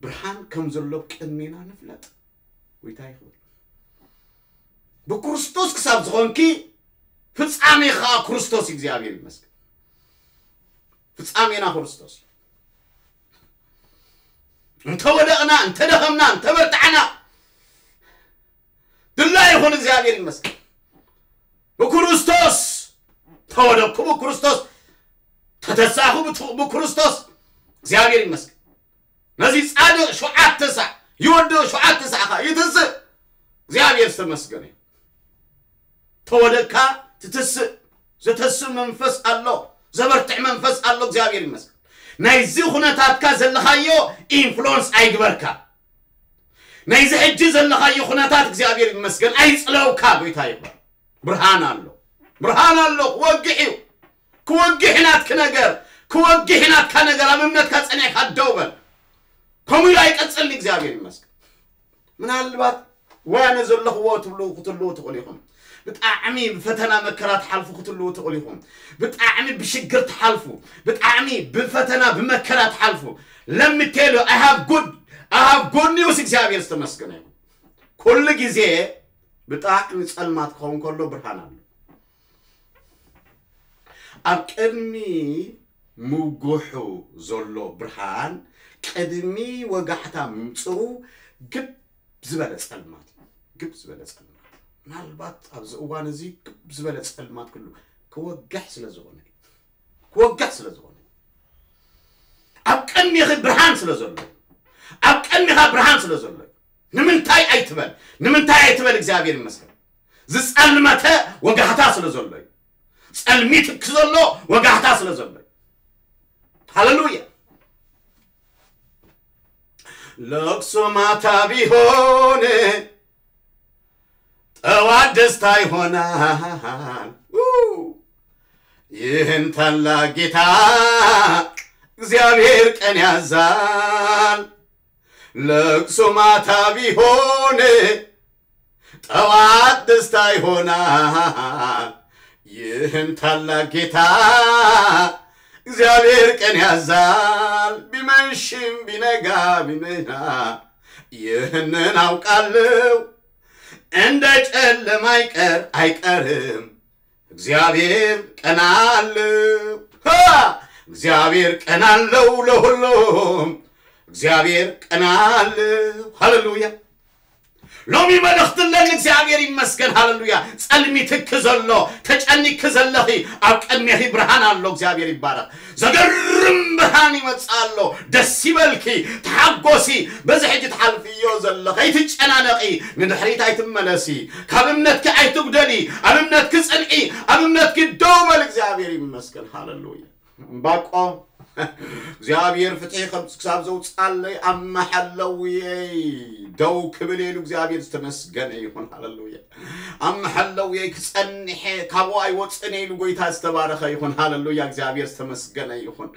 ብርሃን ከም ዘሎ ቅድሜና ንፍለጥ። ጎይታ ይኽበር። ብክርስቶስ ክሳብ ዝኾንኪ ፍጻሜ ኸዓ ክርስቶስ እዩ። እግዚኣብሔር ይመስገን። ፍጻሜና ክርስቶስ እዩ። እንተወደቕና፣ እንተደኸምና፣ እንተበርታዕና ድላ ይኹን። እግዚኣብሔር ይመስገን። ብክርስቶስ ተወደቅኩ፣ ብክርስቶስ ተተሳእኹ፣ ብት-፣ ብክርስቶስ። እግዚኣብሔር ይመስገን። ነዚ ጻድቕ ሸውዓተ ሳዕ ይወድቕ፣ ሸውዓተ ሳዕ ኸዓ ይትስእ። እግዚኣብሔር ዝተመስገነ እዩ። ተወደቅካ ትትስእ፣ ዘተስእ መንፈስ ኣሎ፣ ዘበርትዕ መንፈስ ኣሎ። እግዚኣብሔር ይመስገን። ናይዚ ኩነታትካ ዘለኻዮ ኢንፍሉወንስ ኣይግበርካ። ናይዚ ሕጂ ዘለኻዮ ኩነታት እግዚኣብሔር ይመስገን ኣይጽለውካ። ጎይታ ይኽበር። ብርሃን ኣሎ፣ ብርሃን ኣሎ። ክወግሕ እዩ፣ ክወግሕ እዩ ናትኪ ነገር፣ ክወግሕ እዩ ናትካ ነገር። ኣብ እምነትካ ጸኒዕካ ደው በል። ከምኡ ኢሉ ኣይቀጽልን። እግዚኣብሔር ይመስገን። ምናልባት ወይ ኣነ ዘለኽዎ ትብሉ ክትህልዉ ትኽእሉ ኢኹም። ብጣዕሚ ብፈተና መከራ ትሓልፉ ክትህልዉ ትኽእሉ ኢኹም። ብጣዕሚ ብሽግር ትሓልፉ፣ ብጣዕሚ ብፈተና ብመከራ ትሓልፉ። Let me tell you, I have good, I have good news። እግዚኣብሔር ዝተመስገነ ይኹን። ኩሉ ግዜ ብጣዕሚ ጸልማት ክኸውን ከሎ ብርሃን ኣሎ። ኣብ ቅድሚ ምጉሑ ዘሎ ብርሃን ቅድሚ ወጋሕታ ምምጽኡ ግብ ዝበለ ጸልማት እዩ። ግብ ዝበለ ጸልማት። ምናልባት ኣብዚ እዋን እዚ ግብ ዝበለ ጸልማት ክሉ ክወግሕ ስለ ዝኾነ እዩ። ክወግሕ ስለ ዝኾነ እዩ። ኣብ ቅድሚኺ ብርሃን ስለ ዘሎ እዩ። ኣብ ቅድሚኻ ብርሃን ስለ ዘሎ እዩ። ንምንታይ ኣይትበል፣ ንምንታይ ኣይትበል። እግዚኣብሔር ይመስገን። ዝጸልመተ ወጋሕታ ስለ ዘሎ እዩ። ጸልሚት ክዘሎ ወጋሕታ ስለ ዘሎ እዩ። ሃሌሉያ። ለቅሶ ማታ ቢሆን ጠዋት ደስታ ይሆናል። ው! ይህን ታላቅ ጌታ እግዚአብሔር ቀን ያዛል። ለቅሶ ማታ ቢሆን ጠዋት ደስታ ይሆናል። ይህን ታላቅ ጌታ እግዚአብሔር ቀን ያዛል። ቢመሽም ቢነጋ ቢመና ይህንን አውቃለሁ። እንደ ጨለማ አይቀር አይቀርም፣ እግዚአብሔር ቀን አለው። ሃ! እግዚአብሔር ቀን አለው ለሁሉም፣ እግዚአብሔር ቀን አለው። ሃሌሉያ። ሎሚ መልእኽቲ ኣለኒ። እግዚኣብሔር ይመስገን። ሃሌሉያ። ጸልሚትኪ ዘሎ፣ ተጨኒክኪ ዘለኺ፣ ኣብ ቅድሜኺ ብርሃን ኣሎ። እግዚኣብሔር ይባረኽ። ዘገርም ብርሃን ይመጽእ ኣሎ። ደስ ይበልኪ፣ ተሓጎሲ። በዚ ሕጂ ትሓልፍዮ ዘለኺ ኣይትጨናነቂ፣ ንድሕሪት ኣይትመለሲ። ካብ እምነትኪ ኣይትጉደሊ፣ ኣብ እምነትኪ ጽንዒ፣ ኣብ እምነትኪ ደው በል። እግዚኣብሔር ይመስገን። ሃሌሉያ። እምባቆም እግዚኣብሔር ፍትሒ ከም ክሳብ ዘውፅኣለይ ኣብ መሐለውየይ ደው ክብል ኢሉ እግዚኣብሔር ዝተመስገነ ይኹን። ሃሌሉያ። ኣብ መሐለውየይ ክጸንሐ ካብኡ ኣይወፅን ኢሉ ጎይታ ዝተባረኸ ይኹን። ሃሌሉያ። እግዚኣብሔር ዝተመስገነ ይኹን።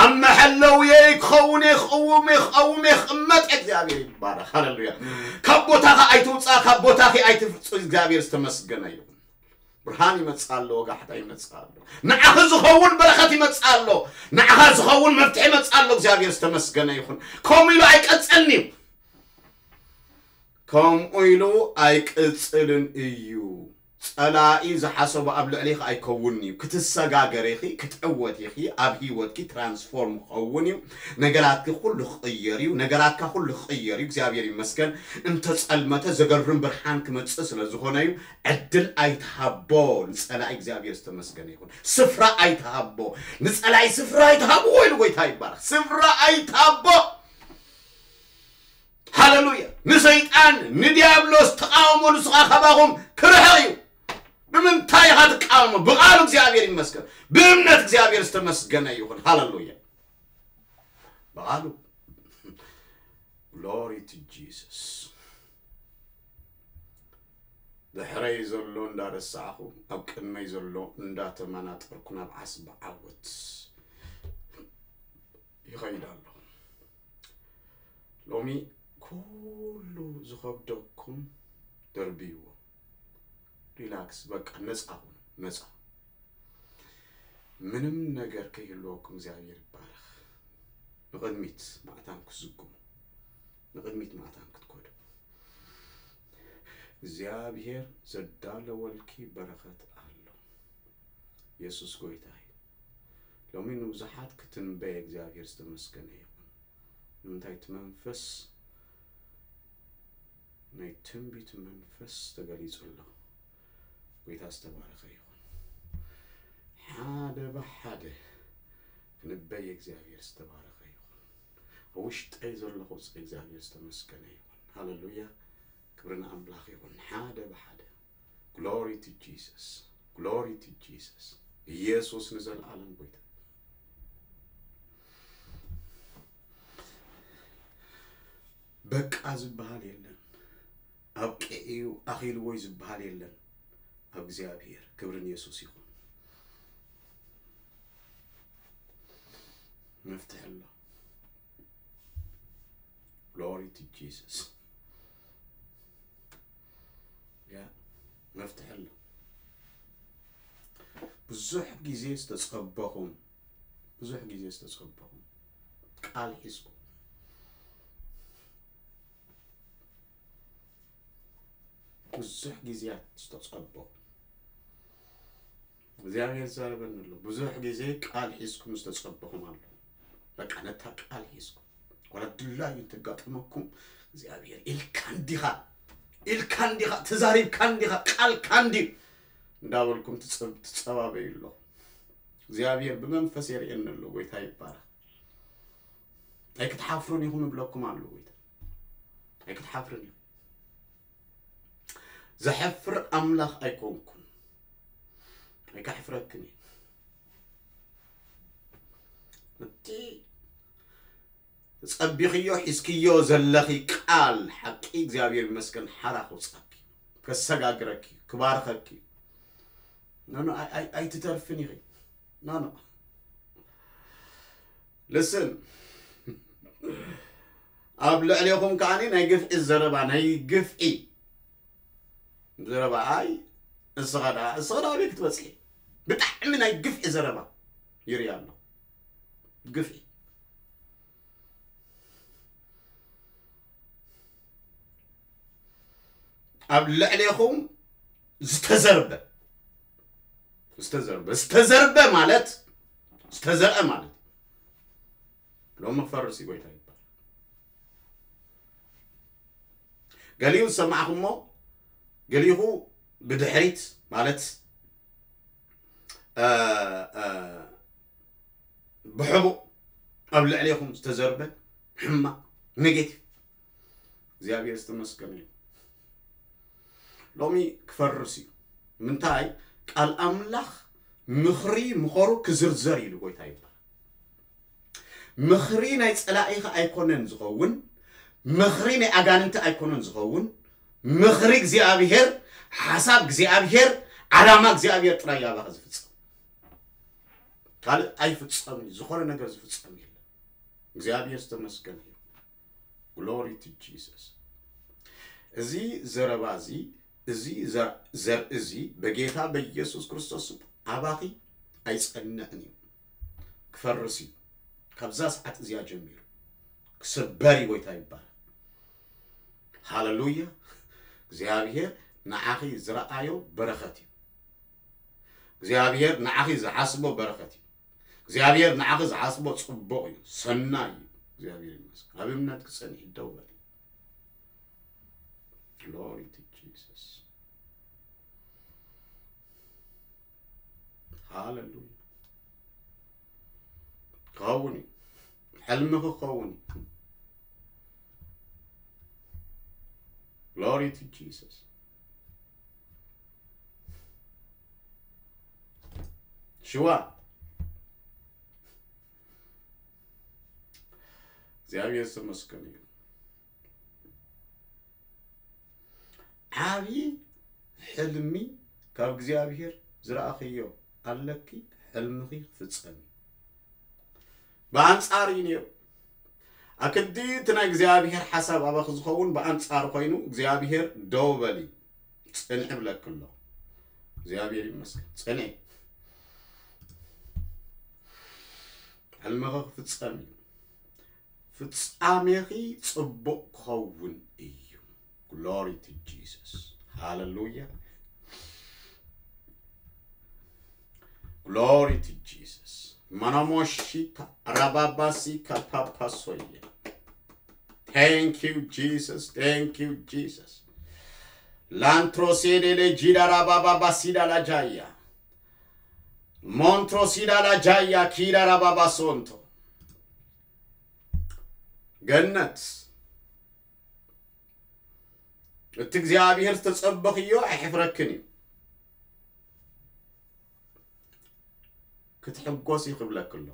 ኣብ መሐለውየይ ክኸውን እየ፣ ክቕውም እየ፣ ክቐውም እየ፣ ክቕመጥ እየ። እግዚኣብሔር ይባረኽ። ሃሌሉያ። ካብ ቦታኻ ኣይትውፃእ፣ ካብ ቦታኺ ኣይትፍፁ። እግዚኣብሔር ዝተመስገነ ይኹን። ብርሃን ይመጽእ ኣሎ፣ ወጋሕታ ይመጽእ ኣሎ። ንዓኺ ዝኸውን በረኸት ይመጽእ ኣሎ። ንዓኻ ዝኸውን መፍትሒ ይመጽእ ኣሎ። እግዚኣብሔር ዝተመስገነ ይኹን። ከምኡ ኢሉ ኣይቀጽልን እዩ። ከምኡ ኢሉ ኣይቅጽልን እዩ። ጸላኢ ዝሓሰቦ ኣብ ልዕሊኻ ኣይከውንን እዩ። ክትሰጋገር ኢኺ፣ ክትዕወት ኢኺ፣ ኣብ ህይወትኪ ትራንስፎርም ክኸውን እዩ። ነገራትኪ ኩሉ ክቕየር እዩ። ነገራትካ ኩሉ ክቕየር እዩ። እግዚኣብሔር ይመስገን። እንተጸልመተ ዘገርም ብርሃን ክመጽእ ስለ ዝኾነ እዩ። ዕድል ኣይትሃቦ ንጸላኢ። እግዚኣብሔር ዝተመስገነ ይኹን። ስፍራ ኣይትሃቦ ንጸላኢ፣ ስፍራ ኣይትሃብዎ ኢሉ ጎይታ ይባረኽ። ስፍራ ኣይትሃቦ። ሃሌሉያ። ንሰይጣን ንዲያብሎስ ተቃውሞ፣ ንሱ ኸዓ ካባኹም ክርሕቕ እዩ። ብምንታይ ኢኻ ትቃወሞ? ብቓሉ። እግዚኣብሔር ይመስገን። ብእምነት። እግዚኣብሔር ዝተመስገነ ይኹን። ሃሌሉያ። ብቓሉ። ግሎሪ ቱ ጂሰስ። ድሕረይ ዘሎ እንዳረሳዕኹ፣ ኣብ ቅድመይ ዘሎ እንዳተመናጠርኩ ናብ ዓስቢ ዓወት ይኸይድ ኣለኹ። ሎሚ ኩሉ ዝኸብደኩም ደርብይዎ። ሪላክስ፣ በቃ ነፃ ኩኑ፣ ነፃ። ምንም ነገር ከይህልወኩም እግዚኣብሔር ይባረኽ። ንቕድሚት ማዕታን ክትዝግሙ፣ ንቕድሚት ማዕታን ክትከዱ። እግዚኣብሔር ዘዳለወልኪ በረኸት ኣሎ። የሱስ ጎይታ እዩ። ሎሚ ንብዙሓት ክትንበየ እግዚኣብሔር ዝተመስገነ ይኹን። ንምንታይ? እቲ መንፈስ፣ ናይ ትንቢት መንፈስ ተገሊጹ ኣሎ። ጎይታ ዝተባረኸ ይኹን። ሓደ ብሓደ ክንበይ እግዚኣብሔር ዝተባረኸ ይኹን። ኣብ ውሽጠይ ዘሎ ቁጽሪ እግዚኣብሔር ዝተመስገነ ይኹን። ሃሌሉያ። ክብሪ ንኣምላኽ ይኹን። ሓደ ብሓደ። ግሎሪ ቱ ጂሰስ። ግሎሪ ቱ ጂሰስ። ኢየሱስ ንዘለኣለም ጎይታ። በቃ ዝበሃል የለን። ኣብቂዑ እዩ፣ ኣኺልዎ እዩ ዝበሃል የለን። ኣብ እግዚኣብሔር ክብሪ ንየሱስ ይኹን። መፍትሒ ኣሎ። ግሎሪ ቱ ጂሰስ። ያ፣ መፍትሒ ኣሎ። ብዙሕ ግዜ ዝተጸበኹም፣ ብዙሕ ግዜ ዝተጸበኹም ቃል ሒዝኩም፣ ብዙሕ ግዜያት ዝተጸበኹም እግዚኣብሔር ይዛረበኒ ኣሎ። ብዙሕ ግዜ ቃል ሒዝኩም ዝተጸበኹም ኣሎ። በቃ ነታ ቃል ሒዝኩም፣ ዋላ ድላዩ እንተጋጠመኩም፣ እግዚኣብሔር ኢልካ እንዲኻ፣ ኢልካ እንዲኻ፣ ተዛሪብካ እንዲኻ፣ ቃልካ እንድዩ እንዳበልኩም ትጸብ-፣ ትጸባበዩ ኣለኹም። እግዚኣብሔር ብመንፈስ የርእየኒ ኣሎ። ጎይታ ይባረኽ። ኣይክትሓፍሩን ኢኹም እብለኩም ኣሎ ጎይታ። ኣይክትሓፍርን ኢኹም። ዘሕፍር ኣምላኽ ኣይኮንኩን። ኣይከሕፍረክን እየ። እቲ ጸቢኽዮ ሒዝክዮ ዘለኺ ቃል ሓቂ እግዚኣብሔር ይመስገን ሓራ ክውጻኪ፣ ከሰጋግረኪ፣ ክባርኸኪ። ኖ፣ ኖ፣ ኣይ-፣ ኣይ-፣ ኣይትተርፍን ኢኺ። ኖ፣ ኖ። ልስን። ኣብ ልዕሌኹም ከዓኒ ናይ ግፍዒ ዘረባ፣ ናይ ግፍዒ ዘረባ። ኣይ፣ እስኻ ደኣ፣ እስኻ ደኣ ኣበይ ክትበጽሒ? ብጣዕሚ ናይ ግፍዒ ዘረባ ይርኢ ኣሎ። ግፍዒ። ኣብ ልዕሌኹም ዝተዘርበ ዝተዘርበ ዝተዘርበ ማለት ዝተዘርአ ማለት ሎሚ ክፈርስ እዩ ጎይታ ይባል። ገሊኡ ዝሰማዕኹሞ ገሊኹ ብድሕሪት ማለት ብሕቡእ ኣብ ልዕሌኹም ዝተዘርበ ሕማቕ ኔጌቲቭ እግዚኣብሔር ዝተመስገነ እዩ። ሎሚ ክፈርስ እዩ። ምንታይ ቃል ኣምላኽ ምኽሪ ምኸሩ ክዝርዘር ኢሉ ጎይታ ይባል። ምኽሪ ናይ ጸላኢኻ ኣይኮነን ዝኸውን፣ ምኽሪ ናይ ኣጋንንቲ ኣይኮነን ዝኸውን። ምኽሪ እግዚኣብሔር፣ ሓሳብ እግዚኣብሔር፣ ዓላማ እግዚኣብሔር ጥራይ ያባኻ ዝፍጸም። ካልእ ኣይፍጸምን እዩ። ዝኾነ ነገር ዝፍጸም የለን። እግዚኣብሔር ዝተመስገነ እዩ። ግሎሪ ቱ ጂሰስ። እዚ ዘረባ እዚ እዚ ዘር- ዘርኢ እዚ በጌታ በኢየሱስ ክርስቶስ ስም ኣባኺ ኣይጸንዕን እዩ። ክፈርስ እዩ። ካብዛ ሰዓት እዚኣ ጀሚሩ ክስበር እዩ። ጎይታ ይባረክ። ሃለሉያ። እግዚኣብሔር ንዓኺ ዝረኣዮ በረኸት እዩ። እግዚኣብሔር ንዓኺ ዝሓስቦ በረኸት እዩ። እግዚኣብሔር ንዓኺ ዝሓስቦ ጽቡቕ እዩ፣ ሰናይ እዩ። እግዚኣብሔር ይመስገን። ኣብ እምነት ክጸንሒ ደው በሊ። ግሎሪ ቱ ጂሰስ። ሃለሉያ። ክኸውን እዩ። ሕልምኺ ክኸውን እዩ። ግሎሪ ቱ ጂሰስ። ሽዋ እግዚኣብሔር ዝተመስገነ እዩ። ዓብዪ ሕልሚ ካብ እግዚኣብሔር ዝረኣኽዮ ኣለኪ። ሕልምኺ ክፍጸም እዩ። ብኣንጻር እዩ ነይሩ። ኣክዲ እቲ ናይ እግዚኣብሔር ሓሳብ ኣባኺ ዝኸውን ብኣንጻር ኮይኑ እግዚኣብሔር ደው በሊ ጽንዒ ብለኪ ኣሎ። እግዚኣብሔር ይመስገን። ጽንዒ። ሕልምኺ ክፍጸም እዩ። ፍጻሜኺ ጽቡቕ ክኸውን እዩ። ግሎሪ ቱ ጂሰስ። ሃለሉያ። ግሎሪ ቱ ጂሰስ። ማናሞሺካ ራባባሲካ ፓፓሶያ። Thank you Jesus. Thank you Jesus. Lantro sedele jida rababa basida la jaya. Montro sida la jaya kida rababa sonto. ገነት እቲ እግዚኣብሔር ዝተጸበኽዮ ኣይሕፍረክን እዩ። ክትሕጎሲ ክብለክ ኣሎ።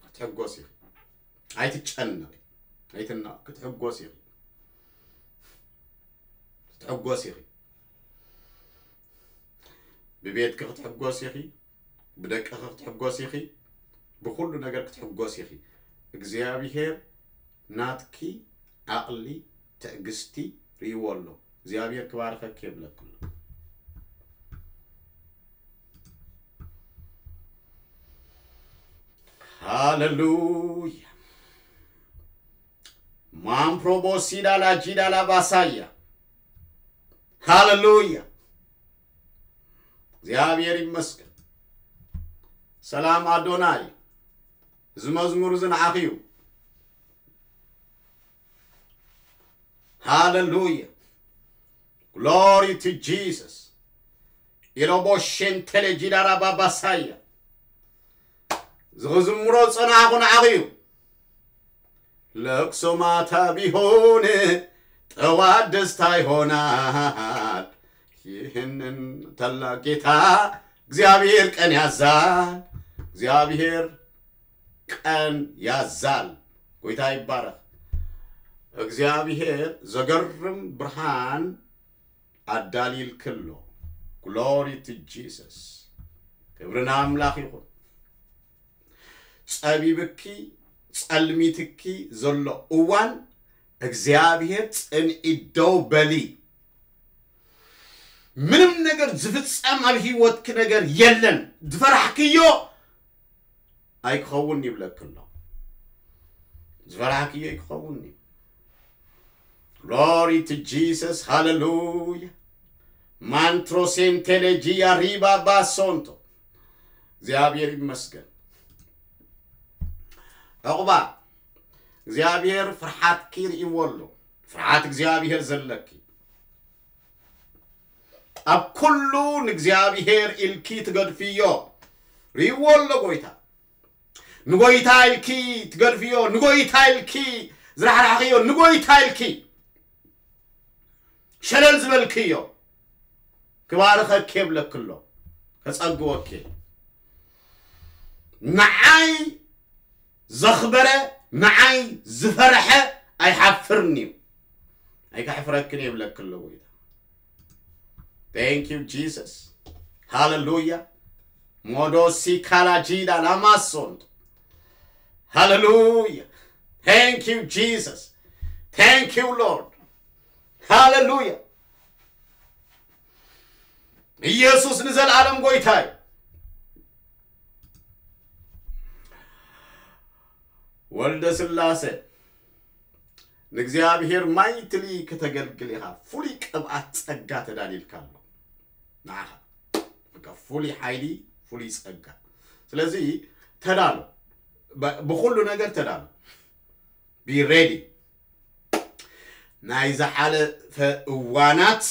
ክትሕጎሲ። ኣይትጨነቂ። ኣይትና ክትሕጎሲ። ክትሕጎሲ። ብቤትክ ክትሕጎሲ። ብደቅኺ ክትሕጎሲ ኢኺ። ብኹሉ ነገር ክትሕጎሲ ኢኺ። እግዚኣብሔር ናትኪ ዓቕሊ ትዕግስቲ ርእይዎ ኣሎ። እግዚኣብሔር ክባርኸኪ የብለኪ ኣሎ። ሃለሉያ። ማምፕሮቦሲዳላ ጂዳላ ባሳያ። ሃለሉያ። እግዚኣብሔር ይመስገን። ሰላም ኣዶናይ። እዚ መዝሙር እዚ ንዓኺ እዩ። ሃለሉያ። ግሎሪ ቱ ጂሰስ። ኢሎቦ ሸንተለ ጂዳራ ባባሳያ። ዝኽዝምሮ ዝጸናዕኹ ንዓኺ እዩ። ለቅሶ ማታ ቢሆን ጠዋት ደስታ ይሆናል። ይህንን ታላቅ ጌታ እግዚአብሔር ቀን ያዛል። እግዚአብሔር ቀን ያዛል። ጎይታ ይባረክ። እግዚአብሔር ዘገርም ብርሃን ኣዳሊልክሎ። ግሎሪ ቱ ጂሰስ። ክብሪ ንኣምላኽ ይኹን። ጸቢብኪ ጸልሚትኪ ዘሎ እዋን እግዚኣብሔር ጽንዒ ደው በሊ። ምንም ነገር ዝፍጸም ኣብ ህይወትኪ ነገር የለን። ዝፈራሕክዮ ኣይክኸውን ይብለኪ ኣሎ። ዝፈራሕክዮ ኣይክኸውን እዩ። ግሎሪ ቱ ጂሰስ ሃለሉያ። ማንትሮሴንቴሌጂ ያሪባ ባሶንቶ። እግዚኣብሔር ይመስገን። ዕቑባ፣ እግዚኣብሔር ፍርሓትኪ ርእይዎ ኣሎ። ፍርሓት እግዚኣብሔር ዘለኪ፣ ኣብ ኩሉ ንእግዚኣብሔር ኢልኪ ትገድፍዮ። ርእይዎ ኣሎ ጎይታ። ንጎይታ ኢልኪ ትገድፍዮ፣ ንጎይታ ኢልኪ ዝራሕራሕክዮ፣ ንጎይታ ኢልኪ ሸለል ዝበልክዮ፣ ክባርኸኪ የብለኪ ኣሎ፣ ከጸግወኪ። ንዓይ ዘኽበረ፣ ንዓይ ዝፈርሐ ኣይሓፍርን እዩ። ኣይከሕፍረክን የብለኪ ኣሎ ጎይታ። Thank you Jesus. ሃሌሉያ። ሞዶሲ ካላጂዳ ላማሶንት። ሃሌሉያ። Thank you Jesus. Thank you Lord. ሃሌሉያ። ኢየሱስ ንዘለዓለም ጎይታ እዩ። ወልደ ስላሴ፣ ንእግዚኣብሔር ማይትሊ ከተገልግል ኢኻ። ፍሉይ ቅብኣት ጸጋ ተዳልዩልካ ኣሎ ንዓኻ። በቃ ፍሉይ ሓይሊ፣ ፍሉይ ጸጋ። ስለዚ ተዳሎ፣ ብ-፣ ብኹሉ ነገር ተዳሎ። Be ready። ናይ ዝሓለፈ እዋናት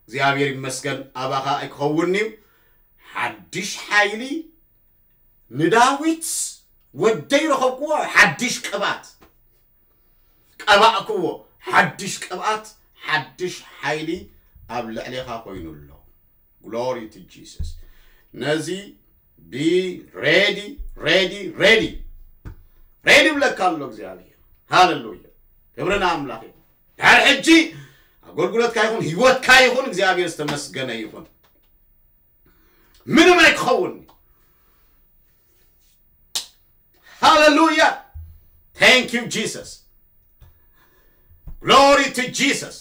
እግዚኣብሔር ይመስገን ኣባኻ ኣይክኸውን እዩ። ሓድሽ ሓይሊ ንዳዊት ወደይ ረኸብክዎ፣ ሓድሽ ቅብኣት ቀባእክዎ፣ ሓድሽ ቅብኣት፣ ሓድሽ ሓይሊ ኣብ ልዕሌኻ ኮይኑ ኣሎ። Glory to Jesus። ነዚ be ready, ready, ready, ready ብለካ ኣሎ እግዚኣብሔር። ሃሌሉያ። ክብሪ ንኣምላኽ ይኹን። ድሕሪ ሕጂ ኣገልግሎትካ ይኹን፣ ህይወትካ ይኹን፣ እግዚኣብሔር ዝተመስገነ ይኹን። ምንም ኣይክኸውን። ሃሌሉያ። Thank you Jesus. Glory to Jesus.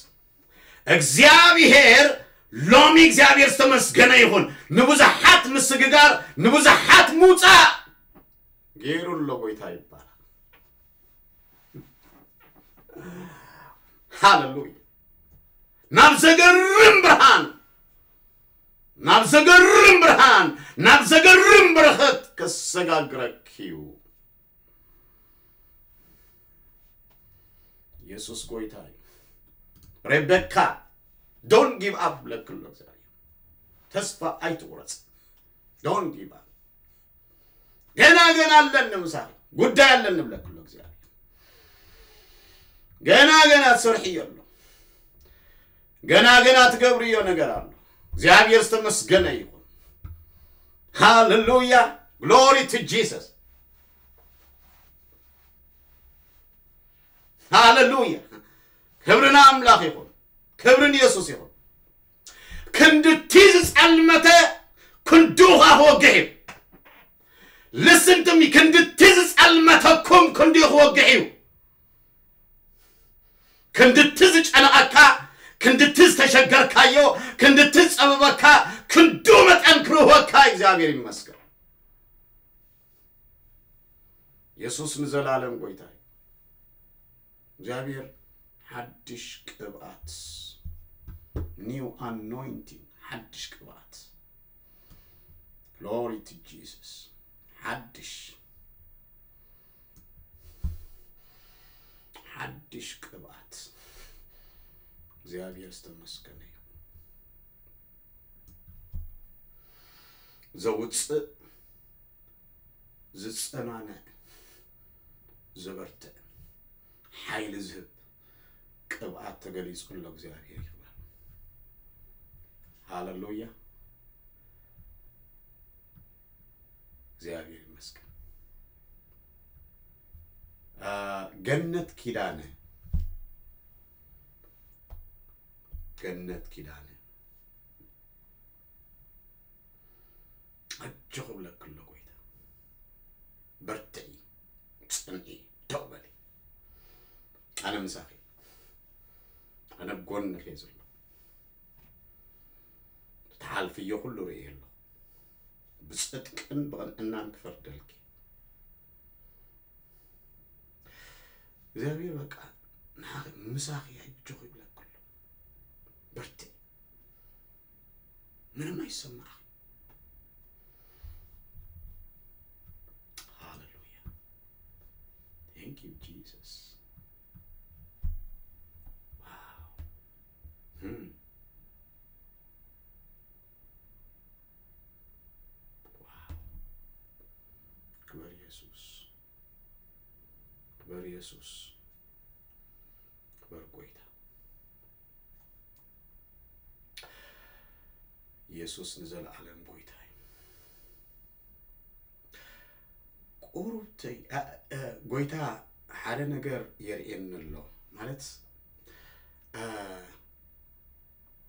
እግዚኣብሔር፣ ሎሚ እግዚኣብሔር ዝተመስገነ ይኹን። ንብዙሓት ምስግጋር፣ ንብዙሓት ምውፃእ ገይሩ ኣሎ ጎይታ ይባላል። ሃሌሉያ። ናብ ዘገርም ብርሃን፣ ናብ ዘገርም ብርሃን፣ ናብ ዘገርም በረኸት ከሰጋግረኪ እዩ። ኢየሱስ ጎይታ እዩ። ሬቤካ፣ don't give up ብለኪ ኣሎ እግዚኣብሔር። ተስፋ ኣይትቑረጽ። Don't give up። ገና ገና ኣለኒ ምሳኺ፣ ጉዳይ ኣለኒ ብለኪ ኣሎ እግዚኣብሔር። ገና ገና ትሰርሕዮ ኣሎ። ገና ገና ትገብርዮ ነገር ኣሎ። እግዚኣብሔር ዝተመስገነ ይኹን። ሃሌሉያ። Glory to Jesus። ሃሌሉያ። ክብሪ ንኣምላኽ ይኹን። ክብሪ ንየሱስ ይኹን። ክንድቲ ዝጸልመተ ክንድኡ ኸኣ ክወግሕ እዩ። Listen to me። ክንድቲ ዝጸልመተኩም ክንድኡ ክወግሕ እዩ። ክንድቲ ዝጨነቐካ፣ ክንድቲ ዝተሸገርካዮ፣ ክንድቲ ዝጸበበካ፣ ክንድኡ መጠን ክርህወካ እግዚኣብሔር ይመስገን። የሱስ ንዘላለም ጎይታ እዩ። እግዚኣብሔር ሓድሽ ቅብኣት፣ new anointing፣ ሓድሽ ቅብኣት። Glory to Jesus። ሓድሽ፣ ሓድሽ ቅብኣት። እግዚኣብሔር ዝተመስገነ ይኹን። ዘውፅእ፣ ዝፀናንዕ፣ ዘበርትዕ፣ ሓይሊ ዝህብ ቅብኣት ተገሊፁ ኣሎ። እግዚኣብሔር ይኽበር። ሃሌሉያ። እግዚኣብሔር ይመስገን። አ፣ ገነት ኪዳነ፣ ገነት ኪዳነ፣ ኣጆኺ እብለኪ ኣሎ ጎይታ። በርትዒ፣ ጽንዒ፣ ደው በሊ። ኣነ ምሳኺ፣ ኣነ ኣብ ጎንኺ እየ ዘለኹ። ትሓልፍዮ ኩሉ ርእየ ኣለኹ። ብጽድቅን ብቕንዕናን ክፈርደልኪ። እግዚኣብሔር በቃ ንዓኺ ምሳኺ ኣጆኺ ይብለኪ ኣሎ። በርትዒ። ምንም ኣይሰማዕኺ። ሃሌሉያ። Thank you, Jesus. Wow. Hmm. Wow. ክበር የሱስ። ክበር የሱስ። ክበር ጎይታ። የሱስ ንዘለዓለም ጎይታ እዩ። ቁሩብተይ፣ አ፣ አ፣ ጎይታ ሓደ ነገር የርእየኒ ኣሎ። ማለት፣ አ፣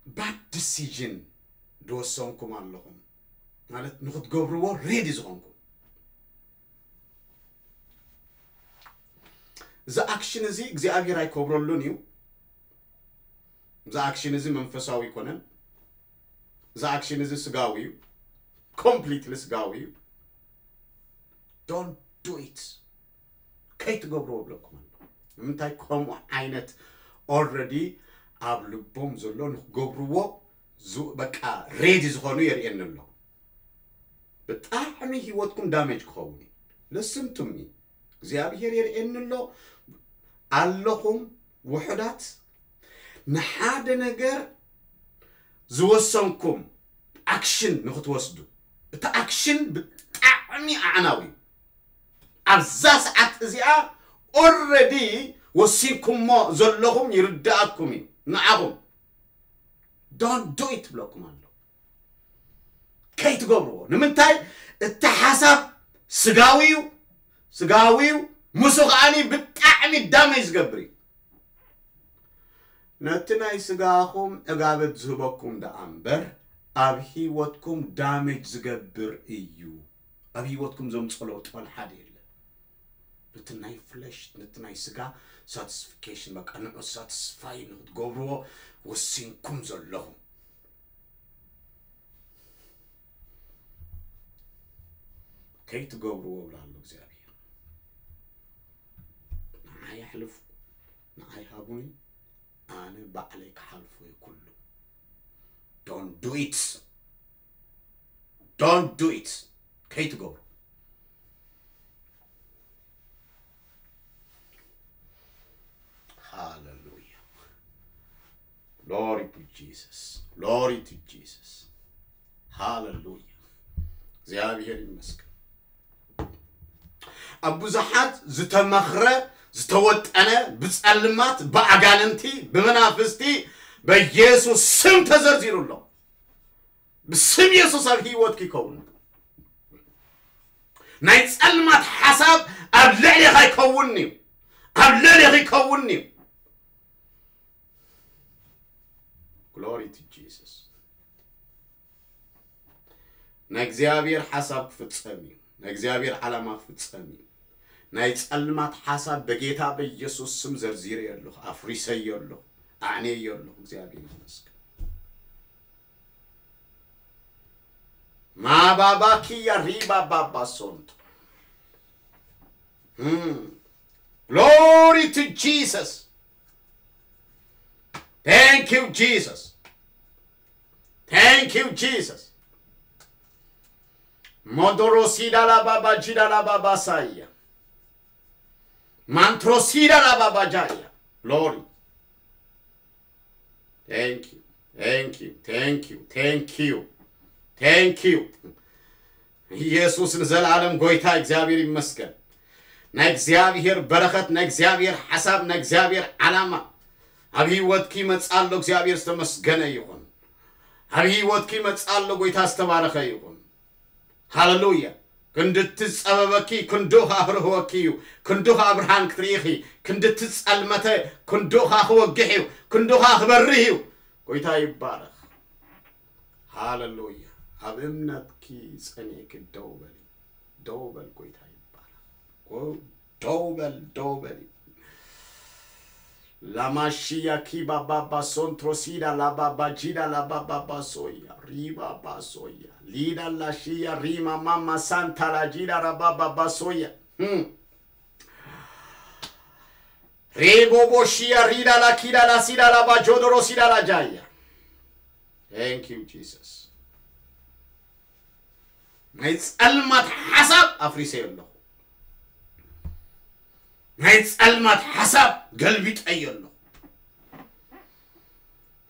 bad decision ዝወሰንኩም ኣለኹም። ማለት፣ ንኽትገብርዎ ሬዲ ዝኾንኩም። እዚ ኣክሽን እዚ እግዚኣብሔር ኣይከብረሉን እዩ። እዚ ኣክሽን እዚ መንፈሳዊ ኣይኮነን። እዚ ኣክሽን እዚ ስጋዊ እዩ። ኮምፕሊትሊ ስጋዊ እዩ። Don't do it። ከይትገብርዎ እብለኩም ኣሎ። ንምንታይ ከምኡ ዓይነት ኦልረዲ ኣብ ልቦም ዘሎ ንክገብርዎ ዝ-፣ በቃ ሬዲ ዝኾኑ የርእየኒ ኣሎ። ብጣዕሚ ህይወትኩም ዳሜጅ ክኸውን እዩ። Listen to me። እግዚኣብሔር የርእየኒ ኣሎ። ኣለኹም ውሑዳት ንሓደ ነገር ዝወሰንኩም ኣክሽን ንክትወስዱ፣ እቲ ኣክሽን ብጣዕሚ ኣዕናዊ እዩ። ኣብዛ ሰዓት እዚኣ ኦልረዲ ወሲንኩሞ ዘለኹም ይርዳእኩም እዩ። ንዓኹም don't do it ብለኩም ኣሎ። ከይትገብርዎ። ንምንታይ? እቲ ሓሳብ ስጋዊ እዩ፣ ስጋዊ እዩ። ምሱ ከዓኒ ብጣዕሚ ዳሜጅ ዝገብር እዩ። ነቲ ናይ ስጋኹም ዕጋበት ዝህበኩም ደኣ እምበር፣ ኣብ ህይወትኩም ዳሜጅ ዝገብር እዩ። ኣብ ህይወትኩም ዘምጽኦ ለውጢ ዋላ ሓደ የለን። ነቲ ናይ ፍለሽ፣ ነቲ ናይ ስጋ ሳቲስፊኬሽን፣ በቃ ንዑ ሳቲስፋይ ንክትገብርዎ ወሲንኩም ዘለኹም። ከይትገብርዎ ብላ ኣሎ እግዚኣብሔር። ንዓይ ኣሕልፉ፣ ንዓይ ሃቡኒ፣ ኣነ ባዕለይ ክሓልፎ እየ ኩሉ። Don't do it። Don't do it። ከይትገብሩ። ሃሌሉያ። Glory to Jesus። Glory to Jesus። ሃሌሉያ። እግዚኣብሔር ይመስገን። ኣብ ብዙሓት ዝተመኽረ፣ ዝተወጠነ፣ ብጸልማት፣ ብኣጋንንቲ፣ ብመናፍስቲ፣ በኢየሱስ ስም ተዘርዚሩ ኣሎ። ብስም የሱስ ኣብ ህይወትኪ ይከውን። ናይ ጸልማት ሓሳብ ኣብ ልዕሌኻ ይከውን እዩ። ኣብ ልዕሌኺ ይከውን እዩ። Glory to Jesus። ናይ እግዚኣብሔር ሓሳብ ክፍጸም እዩ። ናይ እግዚኣብሔር ዓላማ ክፍጸም እዩ። ናይ ጸልማት ሓሳብ በጌታ በኢየሱስ ስም ዘርዚረዮ ኣለኹ፣ ኣፍሪሰዮ ኣለኹ፣ ኣዕንየዮ ኣለኹ። እግዚኣብሔር ይመስገን። ማባባኪያ ሪባ ባባ ሶንቶ። Hmm. Glory to Jesus. Thank you, Jesus. Thank you, Jesus. Modorosida la baba jida la baba saya. Mantrosida la baba jaya. Glory. Thank you. Thank you. Thank you. Thank you. Thank you. ኢየሱስ ንዘለዓለም ጎይታ እግዚኣብሔር ይመስገን። ናይ እግዚኣብሔር በረኸት፣ ናይ እግዚኣብሔር ሓሳብ፣ ናይ እግዚኣብሔር ዓላማ ኣብ ህይወትኪ ይመጽእ ኣሎ። እግዚኣብሔር ዝተመስገነ ይኹን። ኣብ ህይወትኪ ይመጽእ ኣሎ። ጎይታ ዝተባረኸ ይኹን። ሃሌሉያ። ክንዲ እቲ ዝጸበበኪ ክንዱ ኸኣ ክርህወኪ እዩ። ክንዱ ኸኣ ብርሃን ክትርኢ ኢኺ። ክንዲ እቲ ዝጸልመተ ክንዱ ኸኣ ክወግሕ እዩ። ክንዱ ኸኣ ክበርህ እዩ። ጎይታ ይባረኽ። ሃሌሉያ። ኣብ እምነትኪ ጸኒዕኪ ደው በሊ። ደው በል፣ ጎይታ ይባረኽ። ጎ-፣ ደው በል፣ ደው በል። ላማሺያ ኪባ ባባ ሶንትሮ ሲዳ ላባባ ጂዳ ላባባባ ሶያ ሪባባ ሶያ ሊዳ ላሺያ ሪማ ማማ ሳንታ ላጂዳ ራባባባ ሶያ። Hmm. ሬቦቦሺያ ሪዳ ላኪዳ ላሲዳ ላባጆዶሮ ሲዳ ላጃያ። Thank you, Jesus. ናይ ጸልማት ሓሳብ ኣፍሪሰዮ ኣለኹ። ናይ ጸልማት ሓሳብ ገልቢጠዮ ኣለኹ።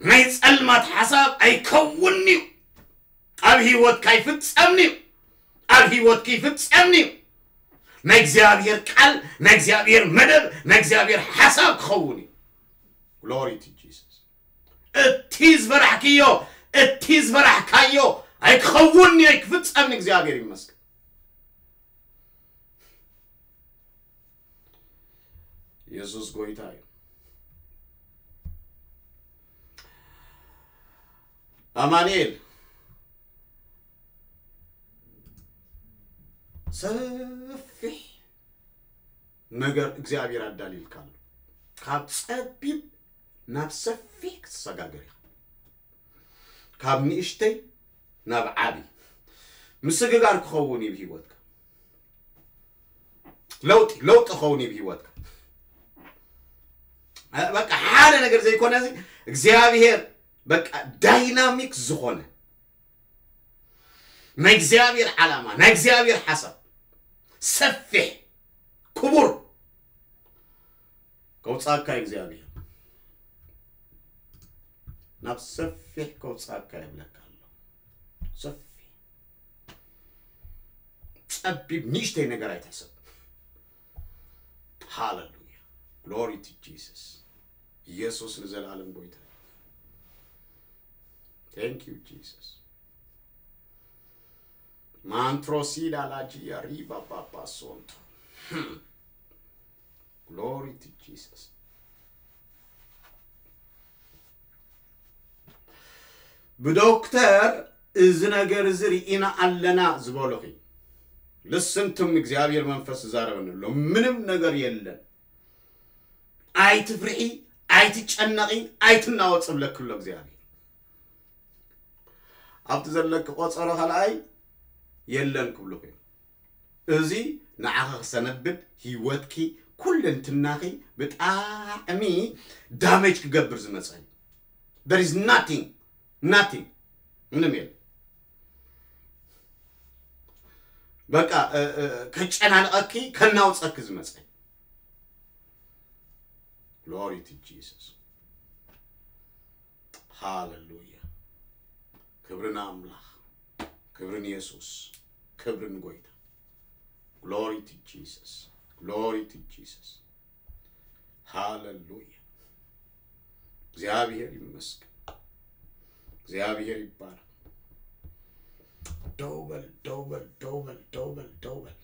ናይ ጸልማት ሓሳብ ኣይከውንን'ዩ። ኣብ ህይወትካ ኣይፍጸምን'ዩ። ኣብ ህይወትኪ ይፍጸምን'ዩ። ናይ እግዚኣብሔር ቃል፣ ናይ እግዚኣብሔር መደብ፣ ናይ እግዚኣብሔር ሓሳብ ክኸውን እዩ። Glory to Jesus። እቲ ዝፈራሕክዮ፣ እቲ ዝፈራሕካዮ ኣይክኸውንን'ዩ፣ ኣይክፍጸምን'ዩ። እግዚኣብሔር ይመስገን። የሱስ ጎይታ እዩ። ኣማኑኤል፣ ሰፊሕ ነገር እግዚኣብሔር ኣዳልዩልካ ኣሎ። ካብ ጸቢብ ናብ ሰፊሕ ክትሰጋገር ኢኻ። ካብ ንእሽተይ ናብ ዓቢ ምስግጋር ክኸውን እዩ ብህይወትካ። ለውጢ፣ ለውጢ ክኸውን እዩ ብህይወትካ። በቃ ሓደ ነገር ዘይኮነ እዚ እግዚኣብሔር በቃ ዳይናሚክ ዝኾነ ናይ እግዚኣብሔር ዓላማ፣ ናይ እግዚኣብሔር ሓሳብ ሰፊሕ፣ ክቡር ከውጻካ እግዚኣብሔር ናብ ሰፊሕ ከውጻካ ይብለካ ኣሎ። ሰፊሕ ጸቢብ ንእሽተይ ነገር ኣይትሕሰብ። ሃሌሉያ። Glory to Jesus። ኢየሱስ ንዘለዓለም ጎይታ እዩ። Thank you Jesus። ማንትሮሲዳ ላጂያ ሪባ ባባ ሶንቶ። Glory to Jesus። ብዶክተር እዚ ነገር እዚ ርኢና ኣለና ዝበሉኺ፣ listen to me፣ እግዚኣብሔር መንፈስ ዝዛረበኒ ኣሎ። ምንም ነገር የለን። ኣይትፍርሒ፣ ኣይትጨነቒ፣ ኣይትናወፂ ብለኪ ኣሎ እግዚኣብሔር። ኣብቲ ዘለኪ ቆፀሮ ካልኣይ የለን ክብሉኺ እዮም። እዚ ንዓኺ ክሰነብድ ህይወትኪ ኩለንትናኺ ብጣዕሚ ዳሜጅ ክገብር ዝመፀ እዩ። There is nothing, nothing፣ ምንም የለን። በቃ እ፣ እ፣ ከጨናንቐኪ ከናውፀኪ ዝመፀ እዩ። Glory to Jesus። ሃሌሉያ። ክብሪ ንኣምላኽ፣ ክብሪ ንየሱስ፣ ክብሪ ንጎይታ። Glory to Jesus። Glory to Jesus። ሃሌሉያ። እግዚኣብሔር ይመስገን። እግዚኣብሔር ይባረክ። ደው በል፣ ደው በል፣ ደው በል፣ ደው በል፣ ደው በል።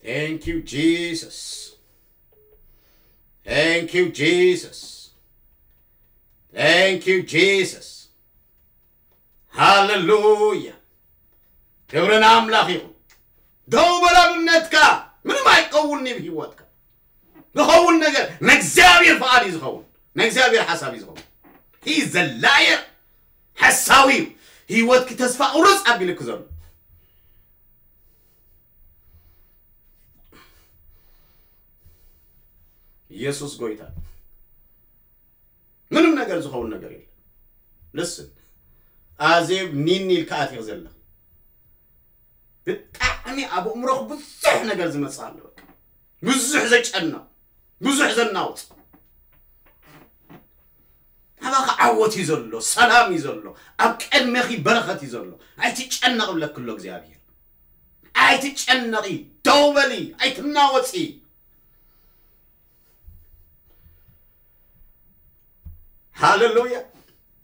Thank you Jesus። Thank you Jesus። Thank you Jesus። ሃሌሉያ። ክብሪ ንኣምላኽ ይኹን። ደው በል ኣብ እምነትካ። ምንም ኣይቀውንኒ ብህይወትካ። ዝኸውን ነገር ንእግዚኣብሔር ፍቓድ እዩ ዝኸውን። ንእግዚኣብሔር ሓሳብ እዩ ዝኸውን። He is a liar። ሓሳዊ እዩ። ህይወትኪ ተስፋ ቁርጽ ኣቢልኪ ዘሎ። ኢየሱስ ጎይታ። ምንም ነገር ዝኸውን ነገር የለን። ልስን ኣዜብ ኒኒ ኢልካ ኣቲኽ ዘለኺ። ብጣዕሚ ኣብ ኣእምሮኽ ብዙሕ ነገር ዝመጽእ ኣሎ። በቃ ብዙሕ ዘጨንቕ፣ ብዙሕ ዘናውጽ። ኣባኻ ዓወት እዩ ዘሎ፣ ሰላም እዩ ዘሎ፣ ኣብ ቅድሜኺ በረኸት እዩ ዘሎ። ኣይትጨነቕ ብለኪ ኣሎ እግዚኣብሔር። ኣይትጨነቒ፣ ደው በሊ፣ ኣይትናወጺ። ሃሌሉያ።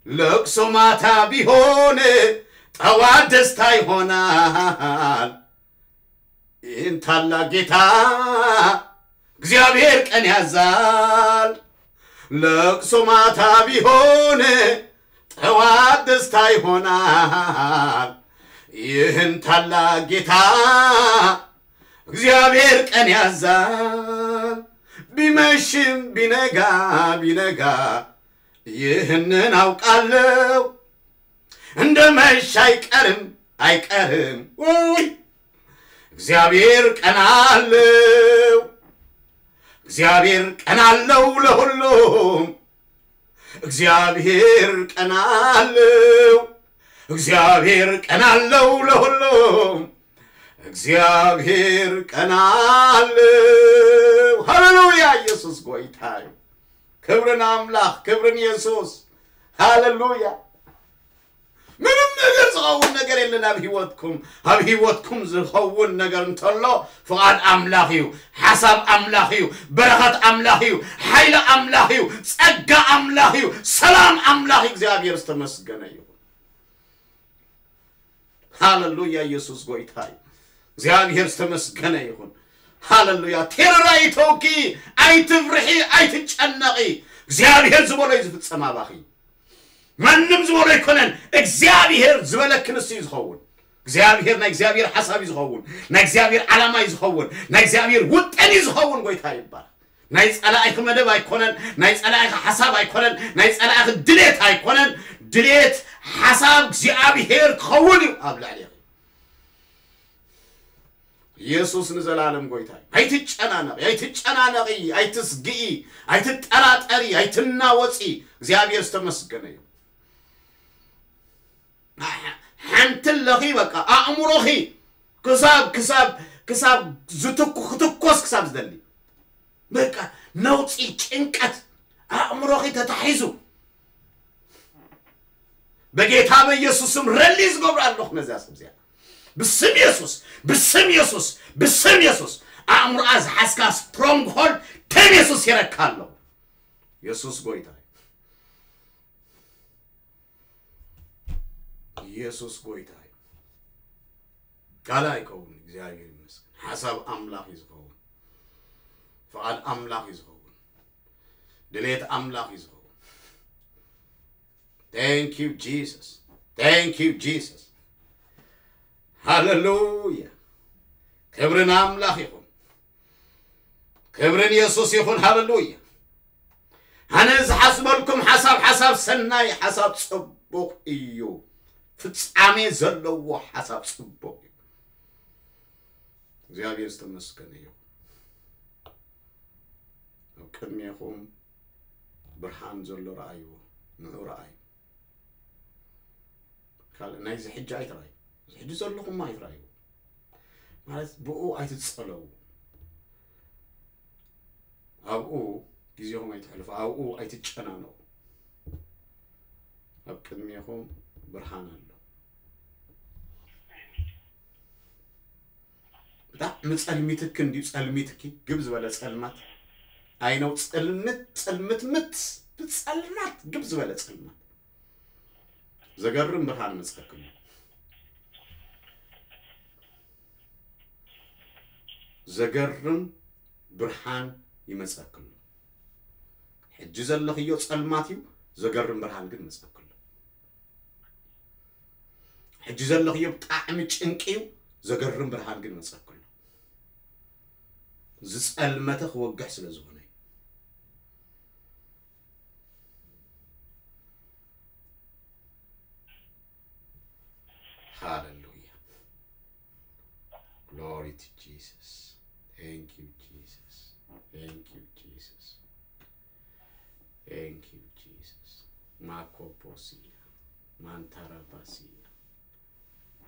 ለቅሶ ማታ ቢሆን ጠዋት ደስታ ይሆናል። ይህን ታላቅ ጌታ እግዚአብሔር ቀን ያዛል። ለቅሶ ማታ ቢሆን ጠዋት ደስታ ይሆናል። ይህን ታላቅ ጌታ እግዚአብሔር ቀን ያዛል። ቢመሽም ቢነጋ ቢነጋ ይህንን አውቃለሁ። እንደ መሽ አይቀርም አይቀርም። ውይ እግዚአብሔር ቀን አለው። እግዚአብሔር ቀን አለው ለሁሉም። እግዚአብሔር ቀን አለው። እግዚኣብሔር ቀን ኣለው ለሁሉም፣ እግዚኣብሔር ቀን ኣለው። ሃሌሉያ! ኢየሱስ ጎይታ እዩ። ክብርን ኣምላኽ፣ ክብርን ኢየሱስ። ሃሌሉያ! ምንም ነገር ዝኸውን ነገር የለን ኣብ ህይወትኩም። ኣብ ህይወትኩም ዝኸውን ነገር እንተሎ ፍቓድ ኣምላኽ እዩ፣ ሓሳብ ኣምላኽ እዩ፣ በረኸት ኣምላኽ እዩ፣ ሓይሊ ኣምላኽ እዩ፣ ጸጋ ኣምላኽ እዩ፣ ሰላም ኣምላኽ እዩ። እግዚኣብሔር ዝተመስገነ ይኹን። ሃሌሉያ! ኢየሱስ ጎይታ እዩ። እግዚኣብሔር ዝተመስገነ ይኹን። ሃሌሉያ! ቴረር ኣይተውኪ፣ ኣይትፍርሒ፣ ኣይትጨነቒ። እግዚኣብሔር ዝበሎ እዩ ዝፍጸም ኣባኺ። ማንም ዝበሎ ኣይኮነን። እግዚኣብሔር ዝበለኪ ንሱ እዩ ዝኸውን። እግዚኣብሔር ናይ እግዚኣብሔር ሓሳብ እዩ ዝኸውን። ናይ እግዚኣብሔር ዓላማ እዩ ዝኸውን። ናይ እግዚኣብሔር ውጥን እዩ ዝኸውን። ጎይታ ይባረክ። ናይ ጸላኢኺ መደብ ኣይኮነን። ናይ ጸላኢኺ ሓሳብ ኣይኮነን። ናይ ጸላኢኺ ድሌት ኣይኮነን። ድሌት ሓሳብ እግዚኣብሔር ክኸውን እዩ ኣብ ልዕሌኺ። ኢየሱስ ንዘላለም ጎይታ እዩ። ኣይትጨናነቂ፣ ኣይትጨናነቂ፣ ኣይትስግኢ፣ ኣይትጠራጠሪ፣ ኣይትናወፂ። እግዚኣብሔር ዝተመስገነ እዩ። ሓንቲ ኣለኺ በቃ ኣእምሮኺ ክሳብ ክሳብ ክሳብ ዝትኩ ክትኮስ ክሳብ ዝደሊ በቃ ነውፂ ጭንቀት ኣእምሮኺ ተታሒዙ በጌታ በኢየሱስ ስም ረሊ ዝገብሩ ኣለኹ ነዛ ሰብ እዚኣ ብስም ኢየሱስ ብስም ኢየሱስ ብስም ኢየሱስ ኣእምሮኣ ዝሓዝካ ስትሮንግ ሆልድ ደም ኢየሱስ ይረካ ኣለኹ ኢየሱስ ጎይታ እዩ ኢየሱስ ጎይታ እዩ ካልእ ኣይከውን እግዚኣብሔር ይመስገን ሓሳብ ኣምላኽ እዩ ዝኸውን ፍቓድ ኣምላኽ እዩ ዝኸውን ድሌት ኣምላኽ እዩ ዝኸውን Thank you Jesus Thank you Jesus ሃሌሉያ ክብሪ ንኣምላኽ ይኹን ክብሪ ንየሱስ ይኹን ሃሌሉያ ኣነ ዝሓስበልኩም ሓሳብ ሓሳብ ሰናይ ሓሳብ ጽቡቕ እዩ ፍጻሜ ዘለዎ ሓሳብ ጽቡቕ እዩ እግዚኣብሔር ዝተመስገነ እዩ ኣብ ቅድሜኹም ብርሃን ዘሎ ረኣይዎ ንዑ ረኣዩ ካልእ ናይዚ ሕጂ ኣይትረኣዩ እዚ ሕጂ ዘለኹም ኣይትረኣዩ ማለት ብኡ ኣይትጸለዉ ኣብኡ ግዜኹም ኣይትሕልፉ ኣብኡ ኣይትጨናነቑ ኣብ ቅድሜኹም ብርሃን ኣሎ ብጣዕሚ ጸልሚትኪ እንድዩ ጸልሚትኪ ግብ ዝበለ ጸልማት ኣይነው ጽልምት ጽልምትምት ብጸልማት ግብ ዝበለ ጸልማት ዘገርም ብርሃን መጸክሉ ዘገርም ብርሃን ይመጸክሉ ሕጂ ዘለኽዮ ጸልማት እዩ ዘገርም ብርሃን ግን መጸክሉ ሕጂ ዘለኽዮ ብጣዕሚ ጭንቂ እዩ ዘገርም ብርሃን ግን መጸክሉ ዝጸልመተ ክወግሕ ስለ ዝኾነ እዩ Hallelujah. Glory to Jesus. Thank you, Jesus. Thank you, Jesus. Thank you, Jesus. Makoposia. Mantarabasia.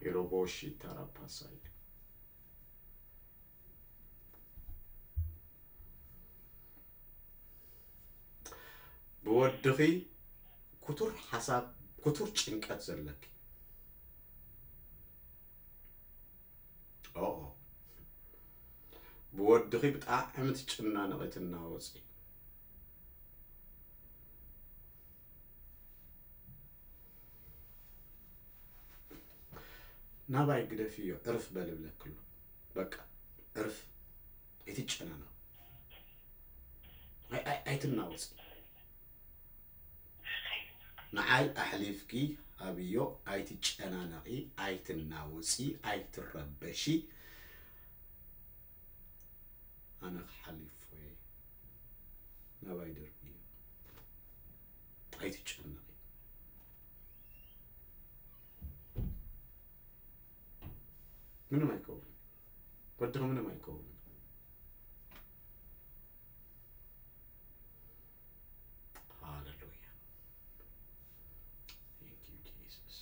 Iroboshi tarapasaya. ብወድኺ ክቱር ሓሳብ ክቱር ጭንቀት ዘለኪ ኦኦ ብወድኺ ብጣዕሚ ትጭናነቒ ትናወፂ ናባይ ግደፍዮ ዕርፍ በል እብለክሉ በቃ ዕርፍ ኣይትጨናነቕ ኣይትናወፂ ንዓይ ኣሕሊፍኪ ሃብዮ ኣይትጨናነቒ ኣይትናወፂ ኣይትረበሺ ኣነ ክሓሊፎ እየ ናባይ ደርብዮ ኣይትጨነቒ ምንም ኣይከውን ወድኺ ምንም ኣይከውን ሃሌሉያ Thank you Jesus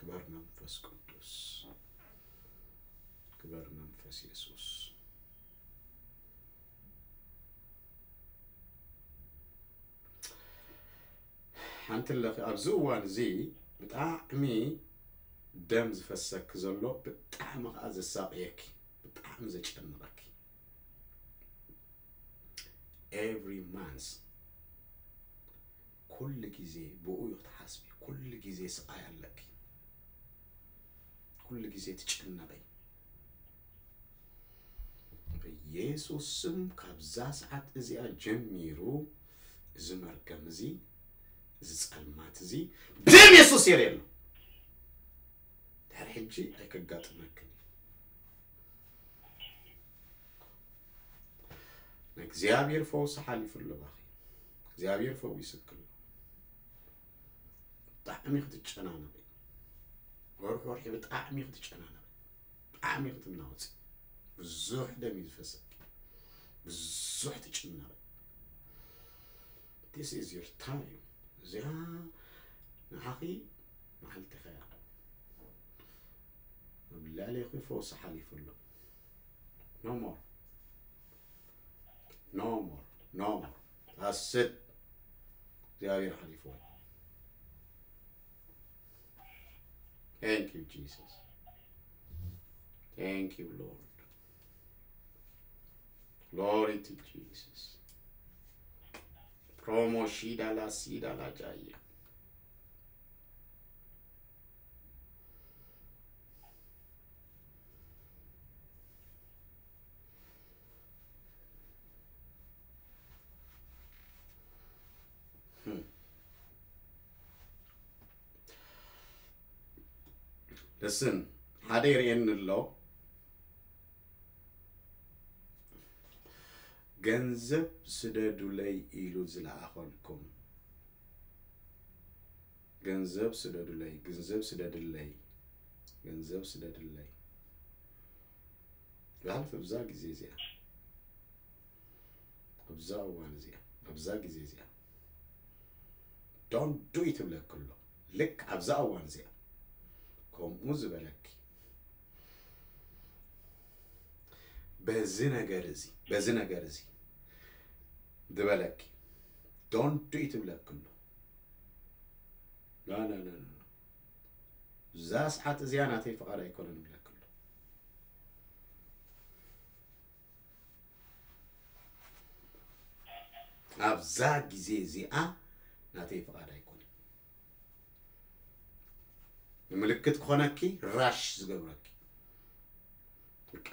ክበር መንፈስ ቅዱስ፣ ክበር መንፈስ የሱስ። ሓንቲ ኣለኺ ኣብዚ እዋን እዚ ብጣዕሚ ደም ዝፈሰኪ ዘሎ፣ ብጣዕሚ ከዓ ዘሳቅየኪ፣ ብጣዕሚ ዘጨንቐኪ። Every month ኩሉ ግዜ ብኡ እዩ ክትሓስቢ። ኩሉ ግዜ ስቃይ ኣለኪ። ኩሉ ግዜ ትጭነቂ። ብኢየሱስ ስም ካብዛ ሰዓት እዚኣ ጀሚሩ እዚ መርገም እዚ፣ እዚ ጸልማት እዚ ብደም የሱስ የርእየሉ። ድሕሪ ሕጂ ኣይከጋጥመክን እዩ። ንእግዚኣብሔር ፈውሲ ሓሊፉ ኣሎ ባኺ። እግዚኣብሔር ፈዊስኪ ኣሎ። ብጣዕሚ ክትጨናነቂ፣ ወርሒ ወርሒ ብጣዕሚ ክትጨናነቂ፣ ብጣዕሚ ክትናወፂ። ብዙሕ ደም እዩ ዝፈሰኪ፣ ብዙሕ ትጭነቂ። This is your time። እዚኣ ንዓኺ መዓልቲ ኸያ። ኣብ ልዕሌኺ ፈውሲ ሓሊፉ ኣሎ። No more. No more. No more. That's it. እግዚኣብሔር ሓሊፍዎ። Thank you, Jesus. Thank you, Lord. Glory to Jesus. Promo shida la sida la jaya. Hmm. Listen, ሓደ ይርእየኒ ኣሎ። ገንዘብ ስደዱለይ ኢሉ ዝለኣኸልኩም፣ ገንዘብ ስደዱለይ፣ ገንዘብ ስደድለይ፣ ገንዘብ ስደድለይ። ብሓልፍ ኣብዛ ግዜ እዚኣ፣ ኣብዛ እዋን እዚኣ፣ ኣብዛ ግዜ እዚኣ don't do it ይብለኪ ኣሎ። ልክ ኣብዛ እዋን እዚኣ ከምኡ ዝበለኪ፣ በዚ ነገር እዚ፣ በዚ ነገር እዚ ዝበለኪ don't do it ይብለኪ ኣሎ። ላ ላ ላ ላ። እዛ ሰዓት እዚኣ ናተይ ፍቓድ ኣይኮነን ይብለኪ ኣሎ። ኣብዛ ግዜ እዚኣ ናተይ ፍቓድ ኣይኮነን። ንምልክት ክኾነኪ ራሽ ዝገብረኪ። በቃ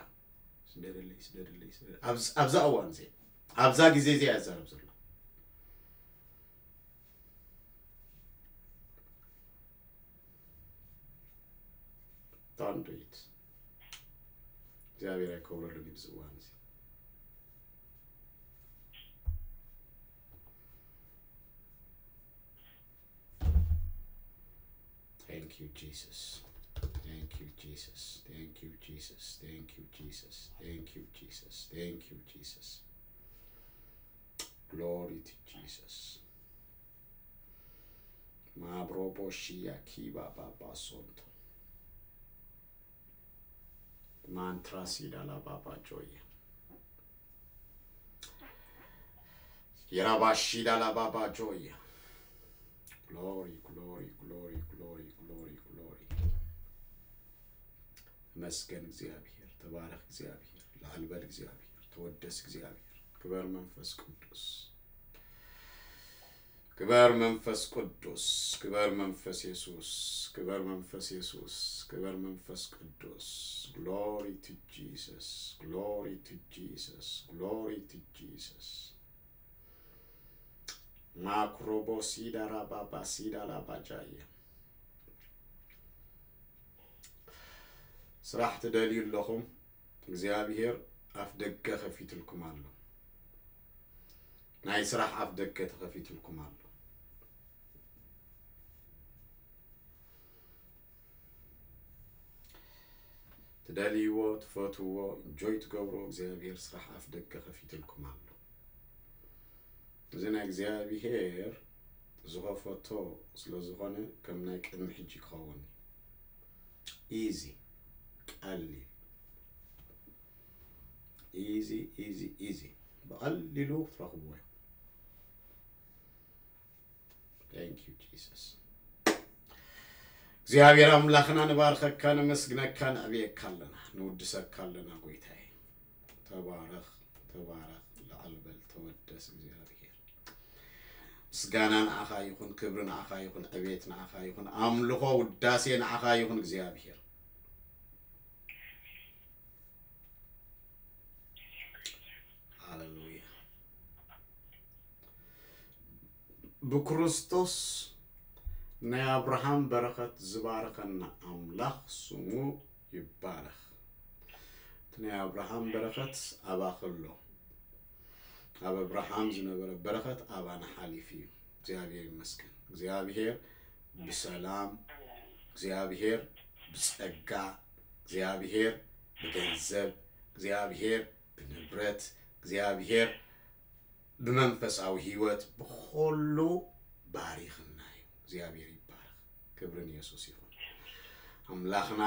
ስደደለይ፣ ስደደለይ፣ ስደደ-፣ ኣብዚ-፣ ኣብዛ እዋን እዚኣ፣ ኣብዛ ግዜ እዚኣ እዛረብ ዘሎ። Don't do it። እግዚኣብሔር ኣይከብረሉን እዩ ብዚ እዋን እዚ። Thank you, Jesus. Thank you, Jesus. Thank you, Jesus. Thank you, Jesus. Thank you, Jesus. Thank you, Jesus. Glory to Jesus. Mabrobo shia kiba baba sonto. Mantra sida la baba joya. Yiraba shida la baba joya. Glory, glory, glory, glory, glory, glory. ተመስገን እግዚኣብሔር፣ ተባረኽ እግዚኣብሔር፣ ላዕል በል እግዚኣብሔር፣ ተወደስ እግዚኣብሔር። ክበር መንፈስ ቅዱስ፣ ክበር መንፈስ ቅዱስ፣ ክበር መንፈስ የሱስ፣ ክበር መንፈስ የሱስ፣ ክበር መንፈስ ቅዱስ። Glory to Jesus, glory to Jesus, glory to Jesus. ማክሮቦ ሲዳ ራባባ ሲዳ ላባጃየ። ስራሕ ትደልዩ ኣለኹም፣ እግዚኣብሔር ኣፍ ደገ ከፊትልኩም ኣሎ። ናይ ስራሕ ኣፍ ደገ ተኸፊትልኩም ኣሎ። ትደልይዎ፣ ትፈትውዎ፣ ኢንጆይ ትገብርዎ እግዚኣብሔር ስራሕ ኣፍ ደገ ከፊትልኩም ኣሎ። እዚ ናይ እግዚኣብሔር ዝኸፈቶ ስለ ዝኾነ ከም ናይ ቅድሚ ሕጂ ክኸውን እዩ። ኢዚ፣ ቀሊል፣ ኢዚ ኢዚ ኢዚ፣ ብቐሊሉ ትረኽብዎ ኢኹም። Thank you Jesus። እግዚኣብሔር ኣምላኽና ንባርኸካ፣ ነመስግነካ፣ ነዕብየካ ኣለና፣ ንውድሰካ ኣለና። ጎይታዬ ተባረኽ፣ ተባረኽ፣ ልዓል በል፣ ተወደስ እግዚኣብሔር። ምስጋና ንዓኻ ይኹን፣ ክብሪ ንዓኻ ይኹን፣ ዕቤት ንዓኻ ይኹን፣ ኣምልኾ ውዳሴ ንዓኻ ይኹን እግዚኣብሔር። ሃሌሉያ። ብክርስቶስ ናይ ኣብርሃም በረኸት ዝባረኸና ኣምላኽ ስሙ ይባረኽ። እቲ ናይ ኣብርሃም በረኸት ኣባኸሎ፣ ኣብ ኣብርሃም ዝነበረ በረኸት ኣባና ሓሊፉ እዩ። እግዚኣብሔር ይመስገን። እግዚኣብሔር ብሰላም፣ እግዚኣብሔር ብጸጋ፣ እግዚኣብሔር ብገንዘብ፣ እግዚኣብሔር ብንብረት፣ እግዚኣብሔር ብመንፈሳዊ ህይወት ብኸሉ ባሪኽና እዩ። እግዚኣብሔር ይባረኽ። ክብሪ ንየሱስ ይኹን። ኣምላኽና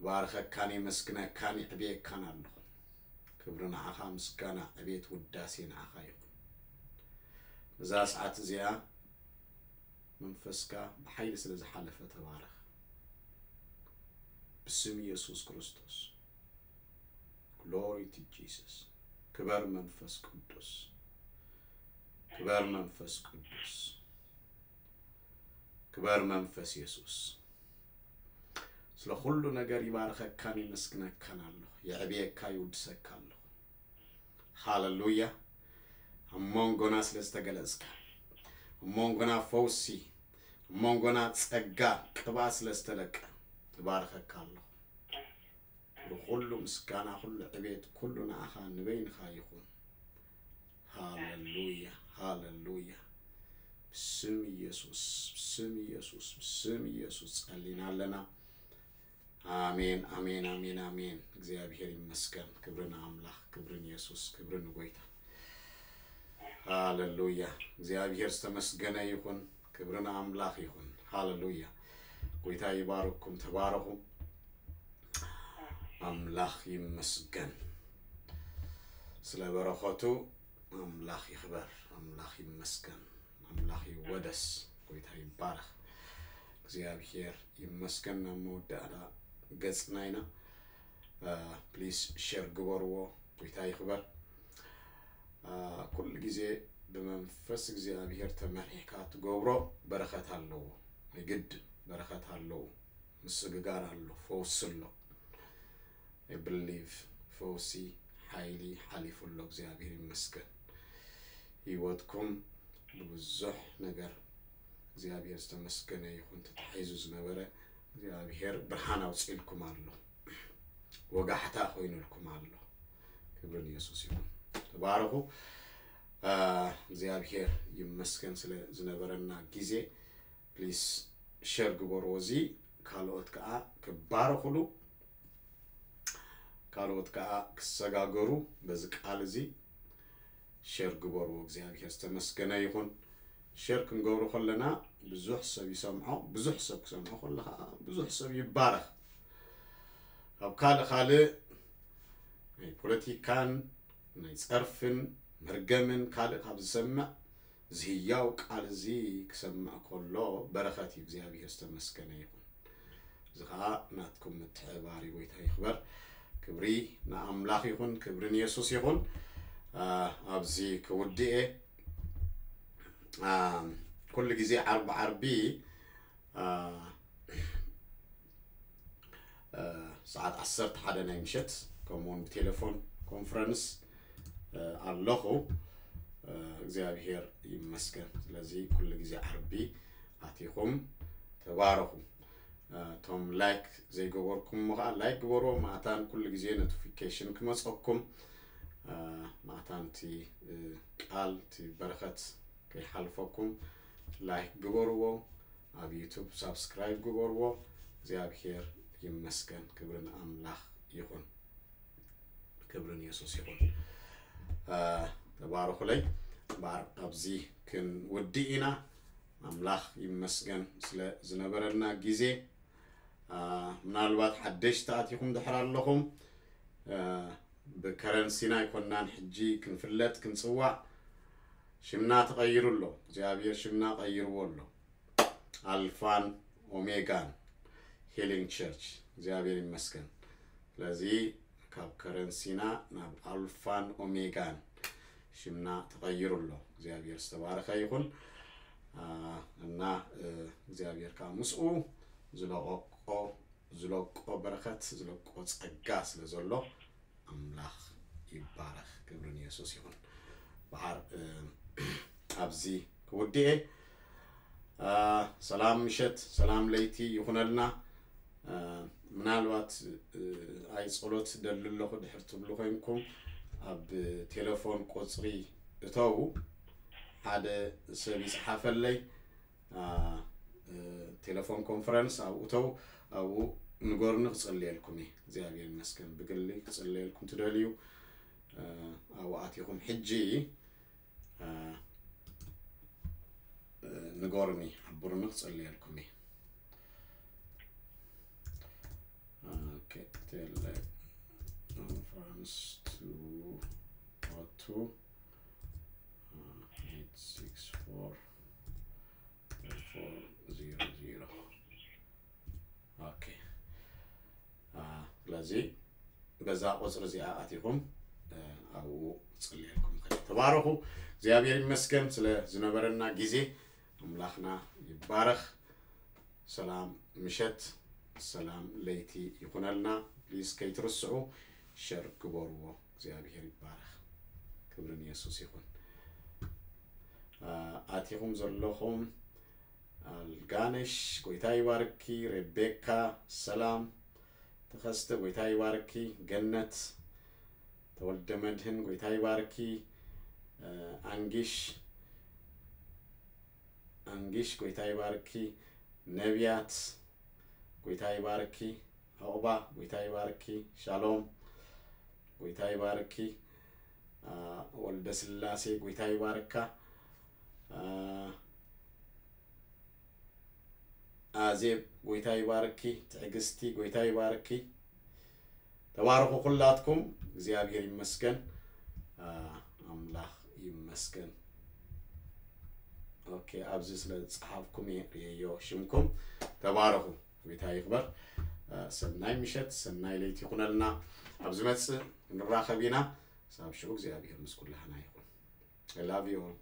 ባርኸካን የመስግነካን የዕብየካን ኣለኹ። ክብሪ ንዓኻ፣ ምስጋና፣ ዕቤት፣ ውዳሴ ንዓኻ ይኹን። እዛ ሰዓት እዚኣ መንፈስካ ብሓይሊ ስለ ዝሓለፈ ተባረኽ። ብስም ኢየሱስ ክርስቶስ። Glory to Jesus። ክበር መንፈስ ቅዱስ፣ ክበር መንፈስ ቅዱስ፣ ክበር መንፈስ ኢየሱስ። ስለ ኩሉ ነገር ይባርኸካን የመስግነካን ኣለኹ። የዕብየካ፣ ይውድሰካ ኣለኹ። ሃሌሉያ። ኣብ መንጎና ስለ ዝተገለጽካ፣ ኣብ መንጎና ፈውሲ፣ ኣብ መንጎና ጸጋ፣ ቅብኣት ስለ ዝተለቀ እባርኸካ ኣለኹ። ኩሉ ምስጋና፣ ኩሉ ዕቤት፣ ኩሉ ንዓኻ ንበይንኻ ይኹን። ሃሌሉያ፣ ሃሌሉያ። ብስም ኢየሱስ፣ ብስም ኢየሱስ፣ ብስም ኢየሱስ ጸሊና ኣለና። ኣሜን፣ ኣሜን፣ ኣሜን፣ ኣሜን። እግዚኣብሔር ይመስገን። ክብሪ ንኣምላኽ፣ ክብሪ ንየሱስ፣ ክብሪ ንጎይታ። ሃሌሉያ። እግዚኣብሔር ዝተመስገነ ይኹን። ክብሪ ንኣምላኽ ይኹን። ሃሌሉያ። ጎይታ ይባርኩም። ተባረኹ። ኣምላኽ ይመስገን። ስለ በረኸቱ ኣምላኽ ይኽበር። ኣምላኽ ይመስገን። ኣምላኽ ይወደስ። ጎይታ ይባረኽ። እግዚኣብሔር ይመስገን። ናብ መወዳእታ ገጽና ኢና። ፕሊስ ሼር ግበርዎ። ጎይታ ይኽበር። ኩሉ ግዜ ብመንፈስ እግዚኣብሔር ተመሪሕካ ትገብሮ በረኸት ኣለዎ። የግድ በረኸት ኣለዎ። ምስግጋር ኣሎ፣ ፈውሲ ኣሎ። I believe ፈውሲ፣ ሓይሊ ሓሊፉ ኣሎ። እግዚኣብሔር ይመስገን። ህይወትኩም ብብዙሕ ነገር እግዚኣብሔር ዝተመስገነ ይኹን። ተታሒዙ ዝነበረ እግዚኣብሔር ብርሃን ኣውፅኢልኩም ኣሎ። ወጋሕታ ኮይኑልኩም ኣሎ። ክብሪ ንየሱስ ይኹን። ተባረኹ። እግዚኣብሔር ይመስገን ስለ ዝነበረና ግዜ። ፕሊስ ሸር ግበርዎ። እዚ ካልኦት ከዓ ክባረኹሉ፣ ካልኦት ከዓ ክሰጋገሩ በዚ ቃል እዚ ሸር ግበርዎ። እግዚኣብሔር ዝተመስገነ ይኹን። ሸር ክንገብሮ ከለና ብዙሕ ሰብ ይሰምዖ። ብዙሕ ሰብ ክሰምዖ ከሎ ከዓ ብዙሕ ሰብ ይባረኽ። ኣብ ካልእ ካልእ ናይ ፖለቲካን ናይ ጸርፍን መርገምን ካልእ ካብ ዝሰምዕ እዚ ህያው ቃል እዚ ክሰምዕ ከሎ በረኸት እዩ። እግዚኣብሔር ዝተመስገነ ይኹን። እዚ ኸዓ ናትኩም ምትሕብባር እዩ። ጎይታ ይኽበር። ክብሪ ንኣምላኽ ይኹን። ክብሪ ንየሱስ ይኹን። ኣብዚ ክውድእ እየ። ኩሉ ግዜ ዓርቢ ዓርቢ ሰዓት ዓሰርተ ሓደ ናይ ምሸት ከምኡውን ብቴሌፎን ኮንፈረንስ ኣለኹ። እግዚኣብሔር ይመስገን። ስለዚ ኩሉ ግዜ ዓርቢ ኣቲኹም ተባረኹ። እቶም ላይክ ዘይገበርኩም ከዓ ላይክ ግበርዎ። ማእታን ኩሉ ግዜ ኖቲፊኬሽን ክመፀኩም፣ ማእታን እቲ ቃል እቲ በረኸት ከይሓልፈኩም ላይክ ግበርዎ። ኣብ ዩቱብ ሳብስክራይብ ግበርዎ። እግዚኣብሔር ይመስገን። ክብሪ ንኣምላኽ ይኹን። ክብሪ ንየሱስ ይኹን። ተባረኹለይ። እምበኣር ኣብዚ ክንውድእ ኢና። ኣምላኽ ይመስገን ስለ ዝነበረና ግዜ። ምናልባት ሓደሽቲ ኣቲኹም ድሕር ኣለኹም፣ ብከረንሲና ኣይኮናን ሕጂ ክንፍለጥ ክንፅዋዕ። ሽምና ተቐይሩ ኣሎ። እግዚኣብሔር ሽምና ቀይርዎ ኣሎ። ኣልፋን ኦሜጋን ሂሊንግ ቸርች። እግዚኣብሔር ይመስገን። ስለዚ ካብ ከረንሲና ናብ ኣልፋን ኦሜጋን ሽምና ተቐይሩ ኣሎ። እግዚኣብሔር ዝተባረኸ ይኹን። እና እግዚኣብሔር ከዓ ምስኡ ዝለቆቆ ዝለቆ በረኸት ዝለቆ ጸጋ ስለ ዘሎ ኣምላኽ ይባረኽ። ክብሪ ንየሱስ ይኹን። በሓር ኣብዚ ክውድኤ። ሰላም ምሸት ሰላም ለይቲ ይኹነልና። ምናልባት ኣይ ጸሎት ደሊ ኣለኹ ድሕር ትብሉ ኮይንኩም ኣብ ቴሌፎን ቁጽሪ እተው ሓደ ሰብ ይጽሓፈለይ። ቴሌፎን ኮንፈረንስ ኣብኡ እተው ኣብኡ ንገሩኒ ክጽልየልኩም እየ። እግዚኣብሔር ይመስገን ብግሊ ክጽልየልኩም ትደልዩ ኣብኡ ኣቲኹም ሕጂ ንገሩኒ ሓብሩኒ ክጽልየልኩም እየ። ቴሌ ኮንፈረንስ ቱ ኦቱ ኤት ሲክስ ፎር ፎር ዚሮ ዚሮ። ኦኬ ስለዚ በዛ ቁፅሪ እዚኣ ኣቲኹም ኣብኡ ፅልየልኩም ከ ተባረኹ። እግዚኣብሔር ይመስገን ስለ ዝነበረና ግዜ። ኣምላኽና ይባረኽ። ሰላም ምሸት ሰላም ለይቲ ይኹነልና። ፕሊዝ ከይትርስዑ ሸር ግበርዎ። እግዚኣብሔር ይባረኽ። ክብሪ ንየሱስ ይኹን። ኣቲኹም ዘለኹም ኣልጋነሽ ጎይታ ይባርኪ። ሬቤካ ሰላም ተኸስተ ጎይታ ይባርኪ። ገነት ተወልደ መድህን ጎይታ ይባርኪ። ኣንጊሽ ኣንጊሽ ጎይታ ይባርኪ። ነቢያት ጎይታ ይባርኪ። ዑቕባ ጎይታ ይባርኪ። ሻሎም ጎይታ ይባርኪ። ወልደ ስላሴ ጎይታ ይባርካ። ኣዜብ ጎይታ ይባርኪ። ትዕግስቲ ጎይታ ይባርኪ። ተባረኹ ኩላትኩም። እግዚኣብሔር ይመስገን። ኣምላኽ ይመስገን። ኦኬ ኣብዚ ስለ ዝፀሓፍኩም እየ ርእየዮ ሽምኩም። ተባረኹ። ጎይታ ይኽበር። ሰናይ ምሸት ሰናይ ለይቲ ይኹነልና። ኣብ ዝመፅእ ንራኸብ ኢና። ሳብ ሽዑ እግዚኣብሔር ምስ ኩላህና ይኹን። I love you all.